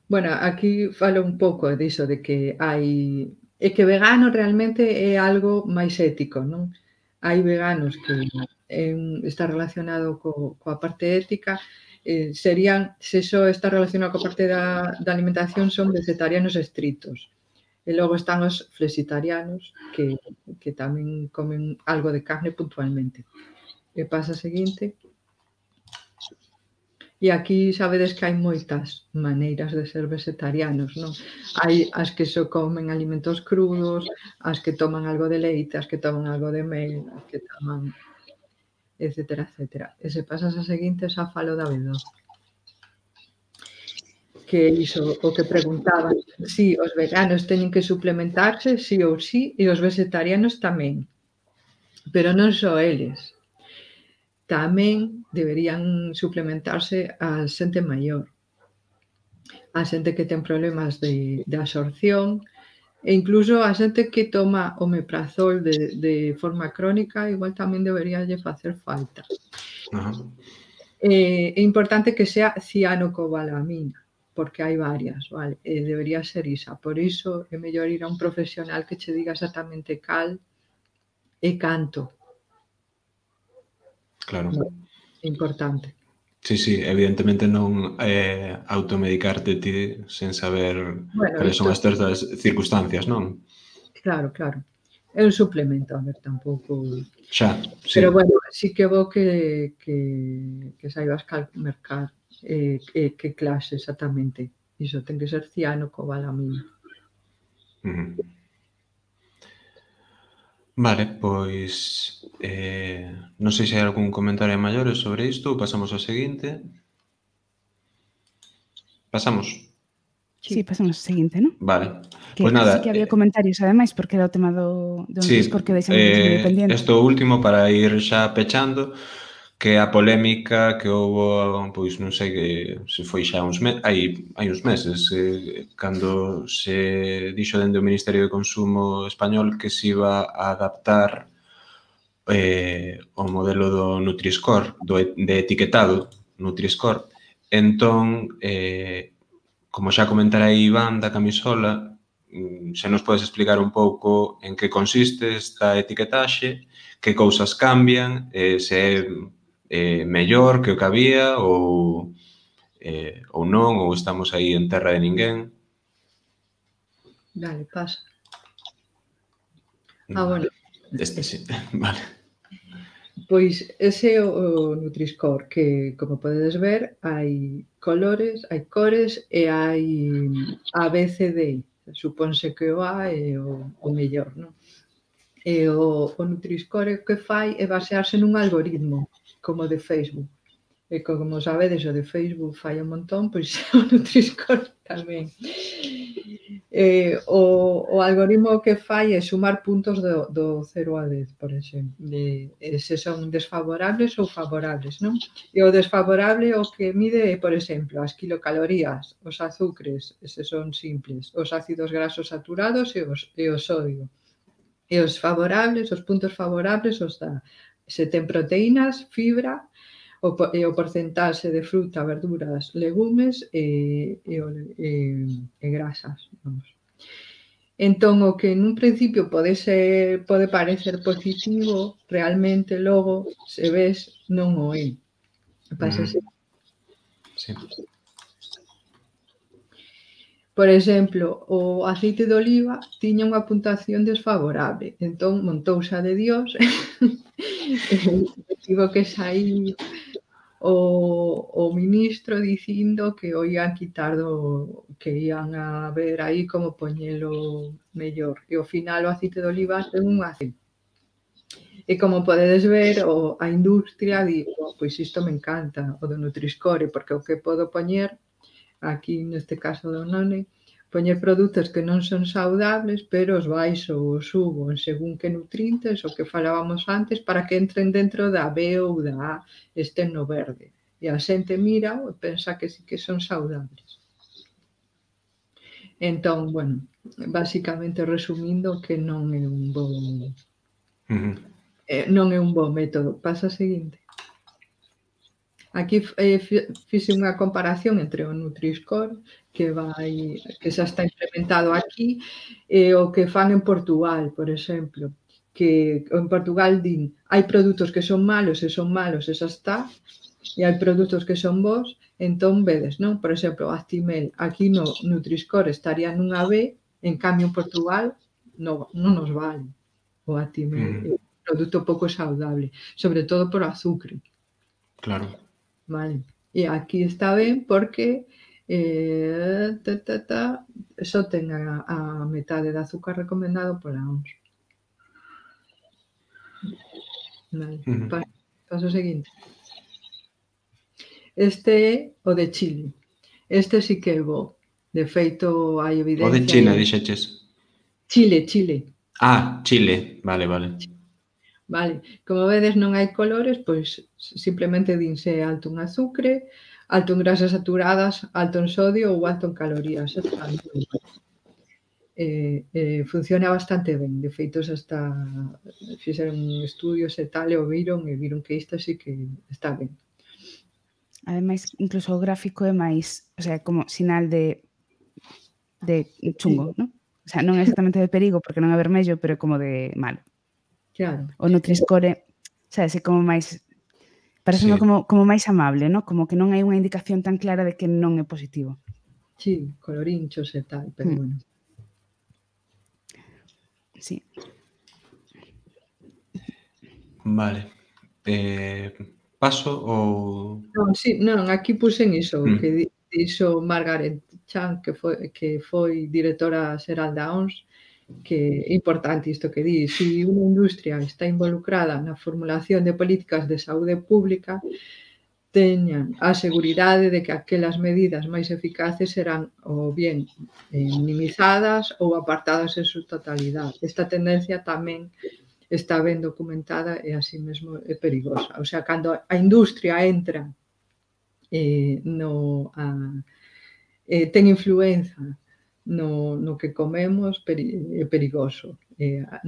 Bueno, aquí falo un pouco diso de que hai... É que vegano realmente é algo máis ético, non? Hai veganos que está relacionado coa parte ética, serían, se só está relacionado coa parte da alimentación, son vegetarianos estritos. E logo están os flexitarianos, que tamén comen algo de carne puntualmente. E pasa a seguinte. E aquí sabedes que hai moitas maneiras de ser vegetarianos, non? Hai as que só comen alimentos crudos, as que toman algo de leite, as que toman algo de mel, as que toman, etcétera, etcétera. E se pasas a seguinte, xa falo da B12. Que iso, o que preguntaban, si os veganos teñen que suplementarse, sí ou sí, e os vegetarianos tamén. Pero non só eles. Tamén deberían suplementarse a xente maior, a xente que ten problemas de absorción e incluso a xente que toma omeprazol de forma crónica, igual tamén debería lle facer falta. É importante que sea cianocobalamina, porque hai varias, vale? Debería ser isa. Por iso é mellor ir a un profesional que che diga exactamente cal e canto. Claro. É importante. Sí, evidentemente non automedicarte ti sen saber cales son as certas circunstancias, non? Claro. É un suplemento, a ver, tampouco... Xa, sí. Pero, bueno, sí que é bo que saibas cal mercar que clase exactamente. Iso ten que ser cianocobalamina. Vale, pois non sei se hai algún comentario maior sobre isto ou pasamos ao seguinte. Pasamos? Sí, pasamos ao seguinte, non? Vale. Pois nada. Sí que había comentarios, ademais, porque era o tema do Nutri-Score que deixamos medio pendiente. Isto último para ir xa pechando, que a polémica que houbo, pois non sei se foi xa hai uns meses, cando se dixo dende o Ministerio de Consumo español que se iba a adaptar o modelo do Nutri-Score, de etiquetado Nutri-Score. Entón, como xa comentara Iván da camisola, se nos podes explicar un pouco en que consiste esta etiquetaxe, que cousas cambian, se é mellor que o que había ou non, ou estamos aí en terra de ninguén. Dale, pasa. Bueno. Este sí, vale. Pois ese é o Nutri-Score, que, como podedes ver, hai colores, hai cores e hai A, B, C, D. Supónse que o A é o mellor, non? O Nutri-Score que fai é basearse nun algoritmo, como de Facebook. E como sabedes, o de Facebook fai un montón, pois o Nutri-Score tamén. O algoritmo que fai é sumar puntos do 0 a 10, por exemplo, se son desfavorables ou favorables, non? E o desfavorable o que mide é, por exemplo, as kilocalorías, os azúcares, eses son simples, os ácidos graxos saturados e o sodio. E os favorables, os puntos favorables, os dá se ten proteínas, fibra, e o porcentaxe de fruta, verduras, legumes e grasas, vamos. Entón, o que nun principio pode parecer positivo, realmente logo, se ves, non o é. Pásase. Sí. Por exemplo, o aceite de oliva tiña unha puntuación desfavorable, entón montouse a de Dios e tivo que saír o ministro dicindo que o ian quitar que ian a ver aí como poñelo mellor. E ao final o aceite de oliva ten un aceite. E como podedes ver, a industria di, pois isto me encanta, o do Nutri-Score, porque o que podo poñer, aquí neste caso do None, poñer produtos que non son saudables, pero os baixo ou os subo en según que nutrientes, o que falábamos antes, para que entren dentro da B ou da A, estén no verde. E a xente mira e pensa que sí que son saudables. Entón, bueno, basicamente resumindo que non é un bo método. Pasa a seguinte. Aquí fixe unha comparación entre o Nutri-Score, que xa está implementado aquí, e o que fan en Portugal, por exemplo, que en Portugal din, hai produtos que son malos e xa está, e hai produtos que son bons, entón vedes, non? Por exemplo, o Actimel, aquí no Nutri-Score estaría nunha B, en cambio en Portugal non nos vale o Actimel, é un produto pouco saudable, sobre todo por azúcar. Claro. Vale. E aquí está ben porque só ten a metade de azúcar recomendado pola OMS. Vale. Paso seguinte. Este é o de Chile. Este sí que é bo. De feito, hai evidencia... O de China, dixeches? Chile. Ah, Chile. Vale. Vale, como vedes non hai colores, pois simplemente dinse alto en azúcar, alto en grasas saturadas, alto en sodio ou alto en calorías. Funciona bastante ben, de feito xa está, fixeron estudios e tal, e viron que isto sí que está ben. Ademais, incluso o gráfico é máis, o sea, como sinal de chungo, non? O sea, non é exactamente de perigo, porque non é vermello, pero é como de malo. Claro. O Nutri-Score, sabes, é como máis... Parece como máis amable, non? Como que non hai unha indicación tan clara de que non é positivo. Sí, colorinchos e tal, pero bueno. Sí. Vale. Paso ou... Non, aquí puxen iso, que dixo Margaret Chan, que foi directora xeral da OMS, que é importante isto que di, se unha industria está involucrada na formulación de políticas de saúde pública, teñan a seguridade de que aquelas medidas máis eficaces serán ou bien minimizadas ou apartadas en su totalidade. Esta tendencia tamén está ben documentada e así mesmo é perigosa. O sea, cando a industria entra ten influenza no que comemos, é perigoso.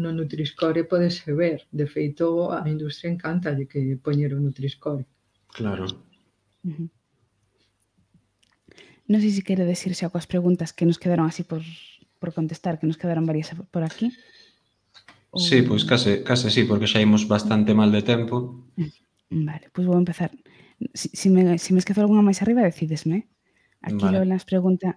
No Nutri-Score podese ver. De feito, a industria encanta de que poñer o Nutri-Score. Claro. Non sei se quere decir xa coas preguntas que nos quedaron así por contestar, que nos quedaron varias por aquí. Sí, pois case sí, porque xa imos bastante mal de tempo. Vale, pois vou empezar. Se me esquezo alguna máis arriba, decidesme. Aquí Lola nos pregunta,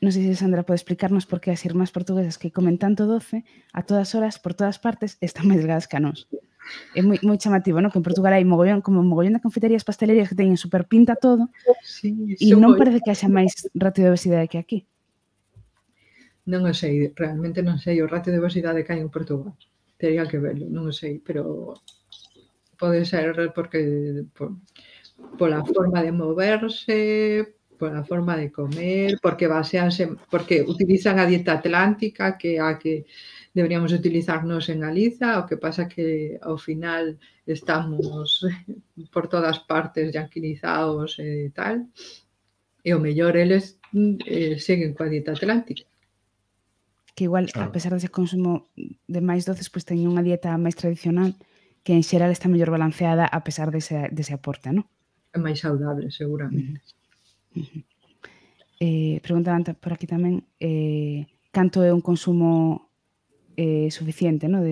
non sei se Sandra pode explicarnos por que as irmás portuguesas que comen tanto doce, a todas horas, por todas partes, están máis delgadas que a nós. É moi chamativo, non? Que en Portugal hai mogollón de confiterías, pastelerías que teñen super pinta todo, e non parece que haxa máis ratio de obesidade que aquí. Non o sei, realmente non sei o ratio de obesidade que hai en Portugal. Tería que verlo, non o sei, pero pode ser porque pola forma de moverse, pola forma de comer, porque utilizan a dieta atlántica, que é a que deberíamos utilizarnos en Galiza, o que pasa que ao final estamos por todas partes yanquinizados e tal, e o mellor eles seguen coa dieta atlántica. Que igual, a pesar dese consumo de máis doces, pois teñen unha dieta máis tradicional que en xeral está mellor balanceada a pesar dese aporte, non? É máis saudable, seguramente. Preguntaban por aquí tamén canto é un consumo suficiente, non?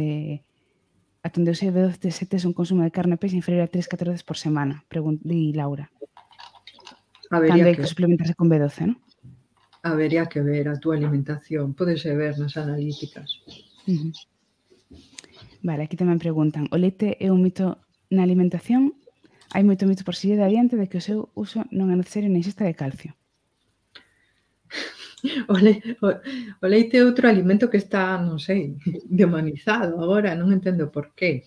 Ata onde eu sei, B12 é un consumo de carne e peixe inferior a 3-4 veces por semana, di Laura. Cando hai que suplementarse con B12, non? Habería que ver a túa alimentación, podese ver nas analíticas. Vale, aquí tamén preguntan, o leite é un mito na alimentación? Hai moito mito por seguir adiante de que o seu uso non é necesario na ingesta de calcio. O leite é outro alimento que está, non sei, demonizado agora, non entendo por qué.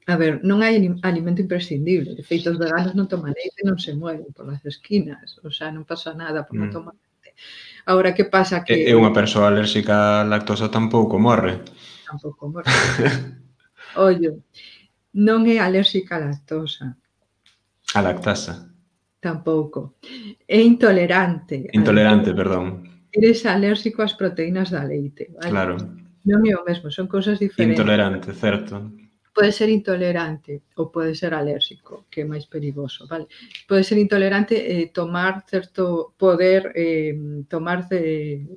A ver, non hai alimento imprescindible. De feito, os veganos non toman leite, non se mueven polas esquinas. O sea, non pasa nada por non tomar leite. Agora, que pasa que... E unha persoa alérxica á lactosa tampouco morre. Tampouco morre. Ollo, non é alérxica á lactosa. A lactasa. Tampouco. É intolerante. Intolerante, perdón. Eres alérxico ás proteínas da leite. Vale? Claro. Non é o mesmo, son cousas diferentes. Intolerante, certo. Pode ser intolerante ou pode ser alérxico, que é máis perigoso, vale? Pode ser intolerante tomar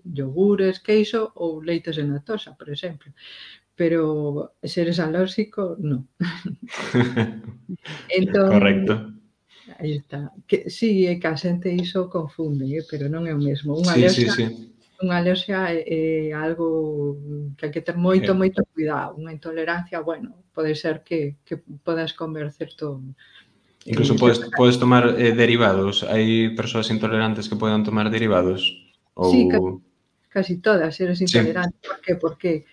yogures, queixo ou leites de lactosa, por exemplo. Pero se eres alérxico, non. Entón, correcto. Aí está. Sí, é que a xente iso confunde, pero non é o mesmo. Unha alerxia é algo que hai que ter moito cuidado. Unha intolerancia, bueno, pode ser que podas comer certo... Incluso podes tomar derivados. Hai persoas intolerantes que poden tomar derivados? Sí, casi todas eres intolerante. Por qué? Porque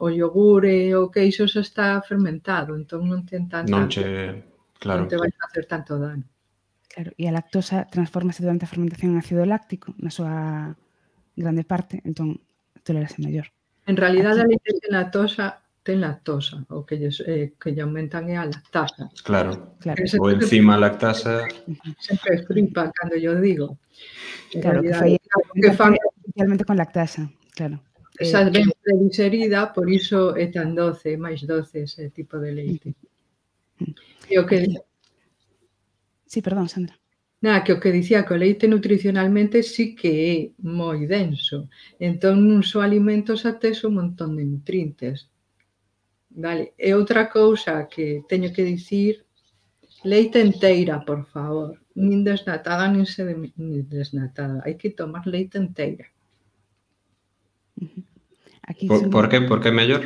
o yogur e o queixo xa está fermentado, entón non ten tanta... Claro. Non te vai facer tanto dano. Claro, e a lactosa transformase durante a fermentación en ácido láctico, na súa grande parte, entón tolerase mellor. En realidad, a leite ten lactosa, o que lle aumentan é a lactasa. Claro. O encima a lactasa... Sempre flipa cando yo digo. Claro, que fai especialmente con lactasa, claro. Esa ben predigerida, por iso é tan doce, máis doce ese tipo de leite. E o que... Sí, perdón, Sandra. Nada, que o que dicía que o leite nutricionalmente sí que é moi denso. Entón, nun só alimento xa tes un montón de nutrientes. Vale. E outra cousa que teño que dicir, leite enteira, por favor. Nin desnatada, nin desnatada. Hai que tomar leite enteira. Por que? Por que é mellor?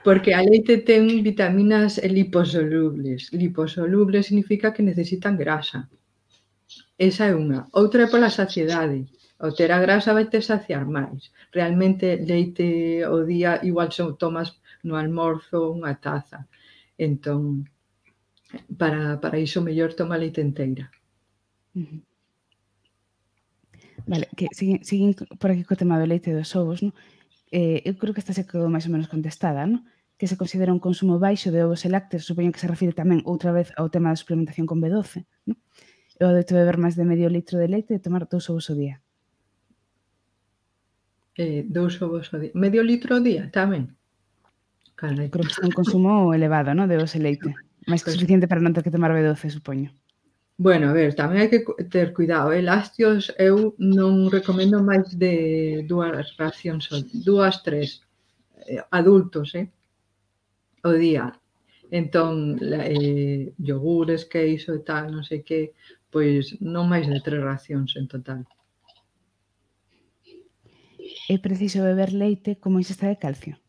Porque a leite ten vitaminas liposolubles. Liposolubles significa que necesitan grasa. Esa é unha. Outra é pola saciedade. Ao ter a grasa vai te saciar máis. Realmente leite ao día igual tomas no almorzo unha taza. Entón, para iso mellor toma leite enteira. Vale, que siguen por aquí co tema do leite e dos ovos, non? Eu creo que esta se quedou máis ou menos contestada, non? Que se considera un consumo baixo de ovos e lácteos, supoño que se refire tamén outra vez ao tema da suplementación con B12, non? Eu adoito beber máis de medio litro de leite e tomar 2 ovos ao día. 2 ovos ao día. Medio litro ao día tamén? Creo que é un consumo elevado, non? De ovos e leite. Máis que suficiente para non ter que tomar B12, supoño. Bueno, a ver, tamén hai que ter cuidado. Lácteos eu non recomendo máis de 2 racións, 2, 3 adultos, ao día. Entón, yogures, queixo e tal, non sei que, pois non máis de 3 racións en total. É preciso beber leite como ingesta de calcio?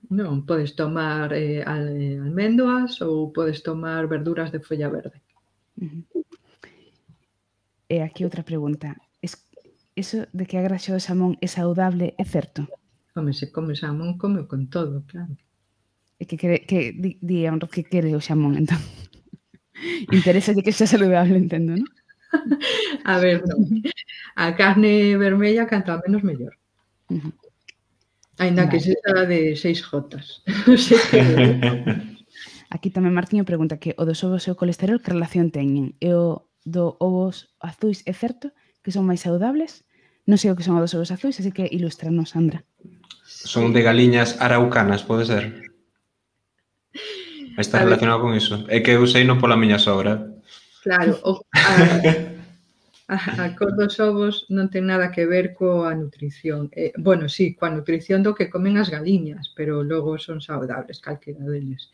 Non, podes tomar almendras ou podes tomar verduras de folla verde. E aquí outra pregunta. Eso de que a graxa do xamón é saudable é certo? Home, se come xamón, come con todo, claro. E que di a Honro que quere o xamón, entón. Interesa que xa saludable, entendo, non? A ver, non. A carne vermella canta menos mellor. Ainda que sexa de 6 jotas. Aquí tamén Martiño pregunta que o dos ovos e o colesterol que relación teñen? E o do ovos azuis é certo que son máis saudables? Non sei o que son os dos ovos azuis, así que ilústranos, Sandra. Son de galiñas araucanas, pode ser? Está relacionado con iso. É que eu sei non pola miña sogra. Claro, a cor dos ovos non ten nada que ver coa nutrición. Bueno, sí, coa nutrición do que comen as galiñas, pero logo son saudables, calquera deles.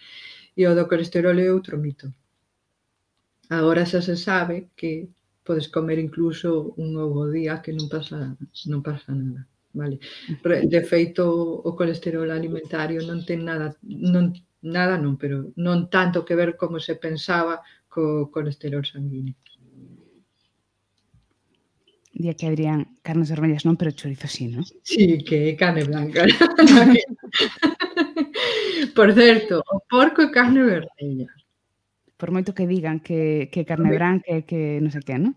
E o do colesterol é outro mito. Agora xa se sabe que podes comer incluso un ovo ao día que non pasa nada, vale? De feito, o colesterol alimentario non ten pero non tanto que ver como se pensaba co colesterol sanguíneo. Día que Adrián, carnes vermellas non, pero chorizo sí, non? Sí, que é carne blanca. Por certo, o porco é carne vermella. Por moito que digan que carne branca e que non sei que, non?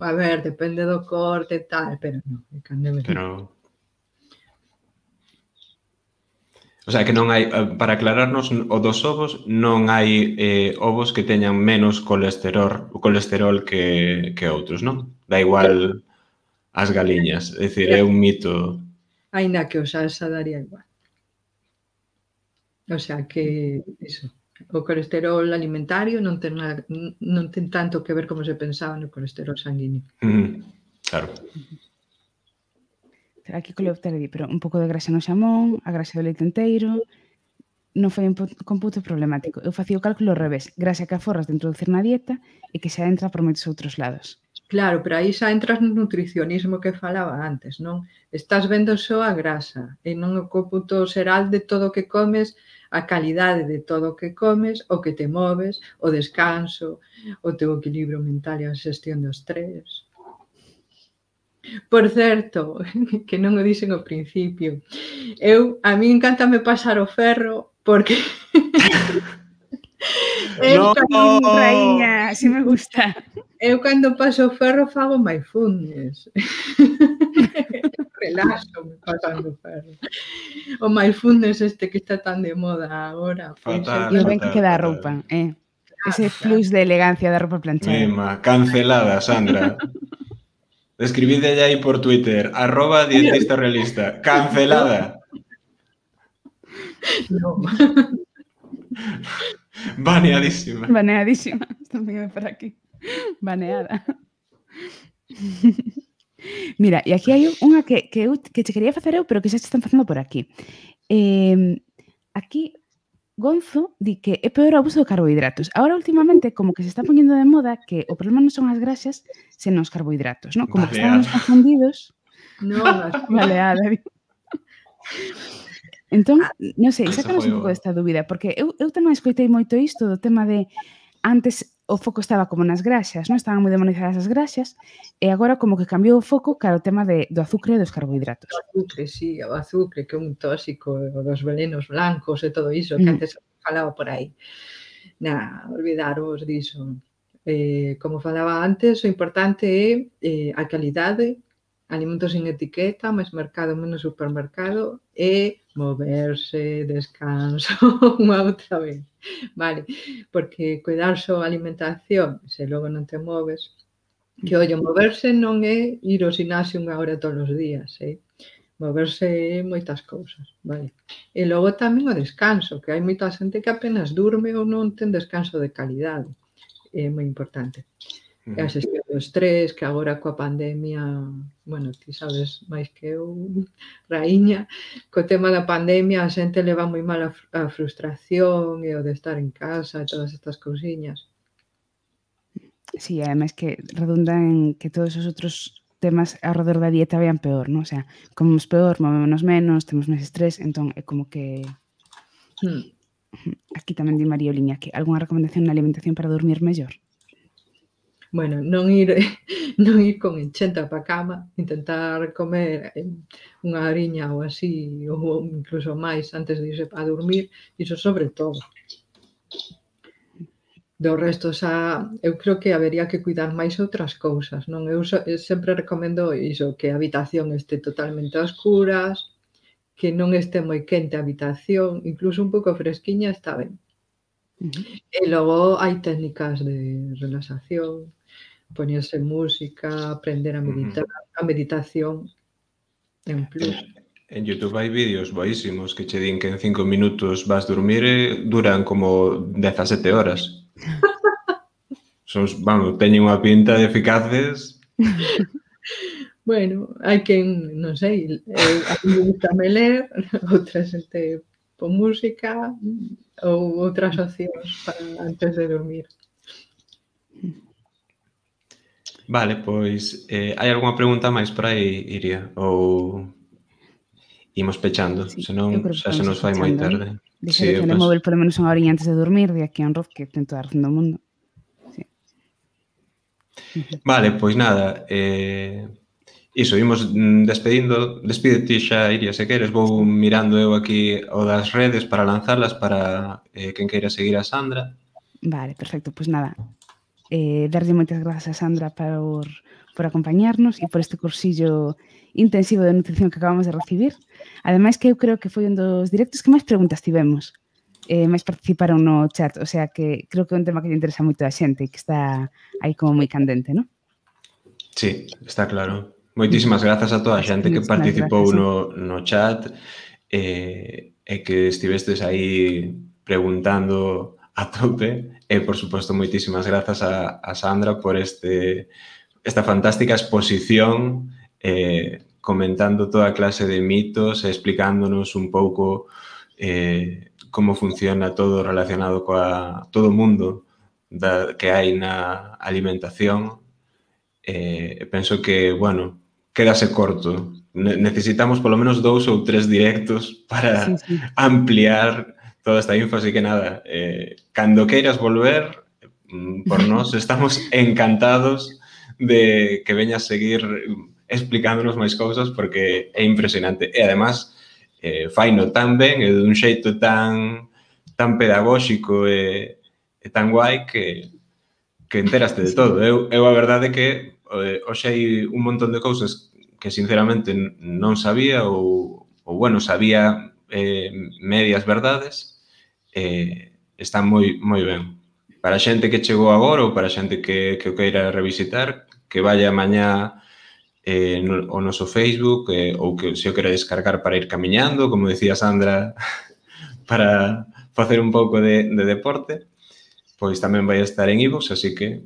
A ver, depende do corte e tal, pero non, é carne vermella. Pero... O sea, que non hai, para aclararnos, o dos ovos non hai ovos que teñan menos colesterol que outros, non? Da igual as galiñas, é dicir, é un mito. Ainda que o salsa daría igual. O sea que, iso, o colesterol alimentario non ten tanto que ver como se pensaba no colesterol sanguíneo. Claro. Aquí Coleoptera di, pero un pouco de grasa no xamón, a grasa do leite enteiro, non foi un computo problemático. Eu facía o cálculo ao revés, grasa que aforras de introducir na dieta e que xa entra por moitos outros lados. Claro, pero aí xa entras no nutricionismo que falaba antes, non? Estás vendo só a grasa e non o cómputo xeral de todo o que comes, a calidade de todo o que comes, o que te moves, o descanso, o teu equilibrio mental e a xestión do estrés. Por certo, que non o dixen ao principio, a mí encántame pasar o ferro porque... No, raíña, así me gusta. Eu cando paso o ferro fago mindfulness. Relaxo-me pasando o ferro. O mindfulness este que está tan de moda agora. Fatal. E o ben que queda a roupa, ese plus de elegancia da roupa planchada. Mima, cancelada, Sandra. Escribidelle aí por Twitter, @dietistarealista, cancelada. No. Baneadísima. Baneadísima, están viendo por aquí. Baneada. Mira, e aquí hai unha que che quería facer eu, pero que xa se están facendo por aquí. Aquí Gonzo di que é peor o abuso de carbohidratos. Ahora, últimamente, como que se está poñendo de moda que o problema non son as grasas, senón os carbohidratos, non? Como que estábamos confundidos. No, baleada. Entón, non sei, sácanos un pouco desta dúbida, porque eu tamén escoitei moito isto do tema de antes o foco estaba como nas graxas, non? Estaban moi demonizadas as graxas, e agora como que cambiou o foco cara o tema do azúcar e dos carbohidratos. O azúcar, sí, o azúcar, que é un tóxico, o dos velenos blancos e todo iso, que antes falaba por aí. Olvidaros diso. Como falaba antes, o importante é a calidade, alimentos sin etiqueta, máis mercado, menos supermercado, e moverse, descanso, unha outra vez, vale? Porque cuidar só a alimentación, se logo non te moves, que, ollo, moverse non é ir ao gimnasio 1 hora todos os días, moverse é moitas cousas, vale? E logo tamén o descanso, que hai moita xente que apenas durme ou non ten descanso de calidade, é moi importante. E a xestión do estrés, que agora coa pandemia, bueno, ti sabes máis que eu, raíña, co tema da pandemia a xente leva moi mal a frustración e o de estar en casa e todas estas cousiñas. Sí, ademais que redunda en que todos os outros temas ao redor da dieta vean peor, non? O sea, comemos peor, movémonos menos, temos máis estrés, entón é como que... Aquí tamén di María Oliña que algunha recomendación na alimentación para dormir mellor? Bueno, non ir con enchenta pa cama, intentar comer unha horiña ou así, ou incluso máis antes de irse a dormir, iso sobre todo. Do resto, xa, eu creo que habería que cuidar máis outras cousas, non? Eu sempre recomendo iso, que a habitación este totalmente a oscuras, que non este moi quente a habitación, incluso un pouco fresquiña está ben. E logo hai técnicas de relaxación, poñerse música, aprender a meditar, a meditación é un plus. En YouTube hai vídeos boísimos que che din que en 5 minutos vas dormir e duran como 17 horas. Vamos, teñen unha pinta de eficaces. Bueno, hai quen, non sei, a mí me gusta ler, outra xente pon música ou outras opcións para antes de dormir. Vale, pois, hai algunha pregunta máis por aí, Iria? Ou imos pechando, senón xa se nos fai moi tarde. Deixar o telemóvil polo menos unha horiña antes de dormir, de aquí a un roz que ten toda a razón do mundo. Vale, pois nada, iso, imos despedindo. Despídete xa, Iria, se queres. Vou mirando eu aquí o das redes para lanzarlas para quen queira seguir a Sandra. Vale, perfecto, pois nada. Darlle moitas grazas a Sandra por acompañarnos e por este cursillo intensivo de nutrición que acabamos de recibir. Ademais que eu creo que foi un dos directos que máis preguntas tivemos. Máis participaron no chat, o sea que creo que é un tema que lle interesa moito a xente e que está aí como moi candente, non? Sí, está claro. Moitísimas grazas a toda a xente que participou no chat e que estivestes aí preguntando a tope. E, por suposto, moitísimas grazas a Sandra por esta fantástica exposición comentando toda clase de mitos e explicándonos un pouco como funciona todo relacionado coa todo o mundo que hai na alimentación. Penso que, bueno, quédase corto. Necesitamos polo menos 2 ou 3 directos para ampliar toda esta info, así que nada, cando queiras volver, por nós estamos encantados de que veñas seguir explicándonos máis cousas porque é impresionante. E, además, faino tan ben e dun xeito tan pedagóxico e tan guai que enteraste de todo. Eu a verdade que hoxe hai un montón de cousas que sinceramente non sabía ou bueno, sabía medias verdades. Está moi ben. Para a xente que chegou agora ou para a xente que o queira revisitar, que vaya mañá ao noso Facebook ou que se o quere descargar para ir camiñando, como decía Sandra, para facer un pouco de deporte, pois tamén vai estar en iVoox, así que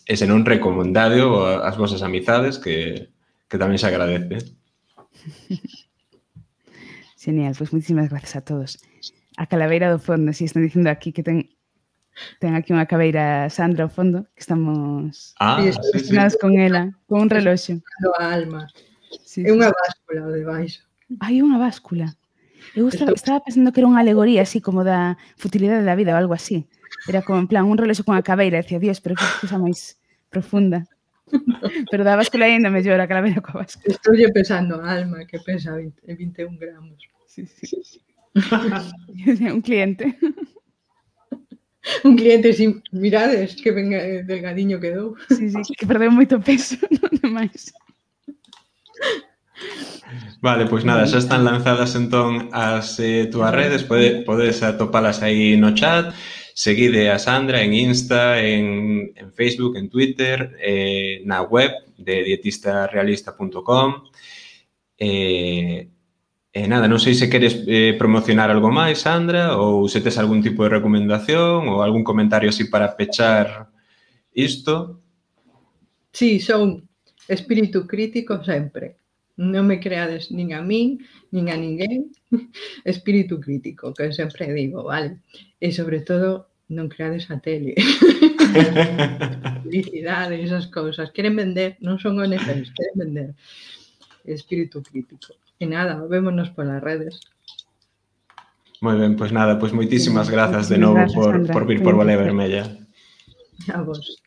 se non recomendado as vosas amizades que tamén se agradece. Genial, pois moitísimas gracias a todos. A calaveira do fondo, si están dicindo aquí que ten aquí unha cabeira Sandra ao fondo, que estamos relacionados con ela, con un reloxo. A alma. É unha báscula o de baixo. Hai unha báscula. Eu estaba pensando que era unha alegoría así como da futilidade da vida ou algo así. Era como en plan un reloxo con a cabeira, decía, Dios, pero que cosa máis profunda. Pero da báscula ainda mellor a calaveira coa báscula. Estou pensando a alma que pesa 21 gramos. Sí. Un cliente. Un cliente, sin mirades, que venga delgadiño quedou. Sí, que perdeu moito peso, non demais. Vale, pois nada, xa están lanzadas entón as túas redes, podes atopalas aí no chat. Seguide a Sandra en Insta, en Facebook, en Twitter, na web de dietistarealista.com. Nada, non sei se queres promocionar algo máis, Sandra, ou se tes algún tipo de recomendación ou algún comentario así para pechar isto. Sí, son espírito crítico sempre. Non me creades nin a min, nin a ninguén. Espírito crítico, que sempre digo, vale? E, sobre todo, non creades a tele. Publicidade, esas cousas. Queren vender, non son ONGs, queren vender. Espírito crítico. E nada, vémonos polas redes. Moi ben, pois nada, pois moitísimas grazas de novo por vir por Valea Vermella. A vos.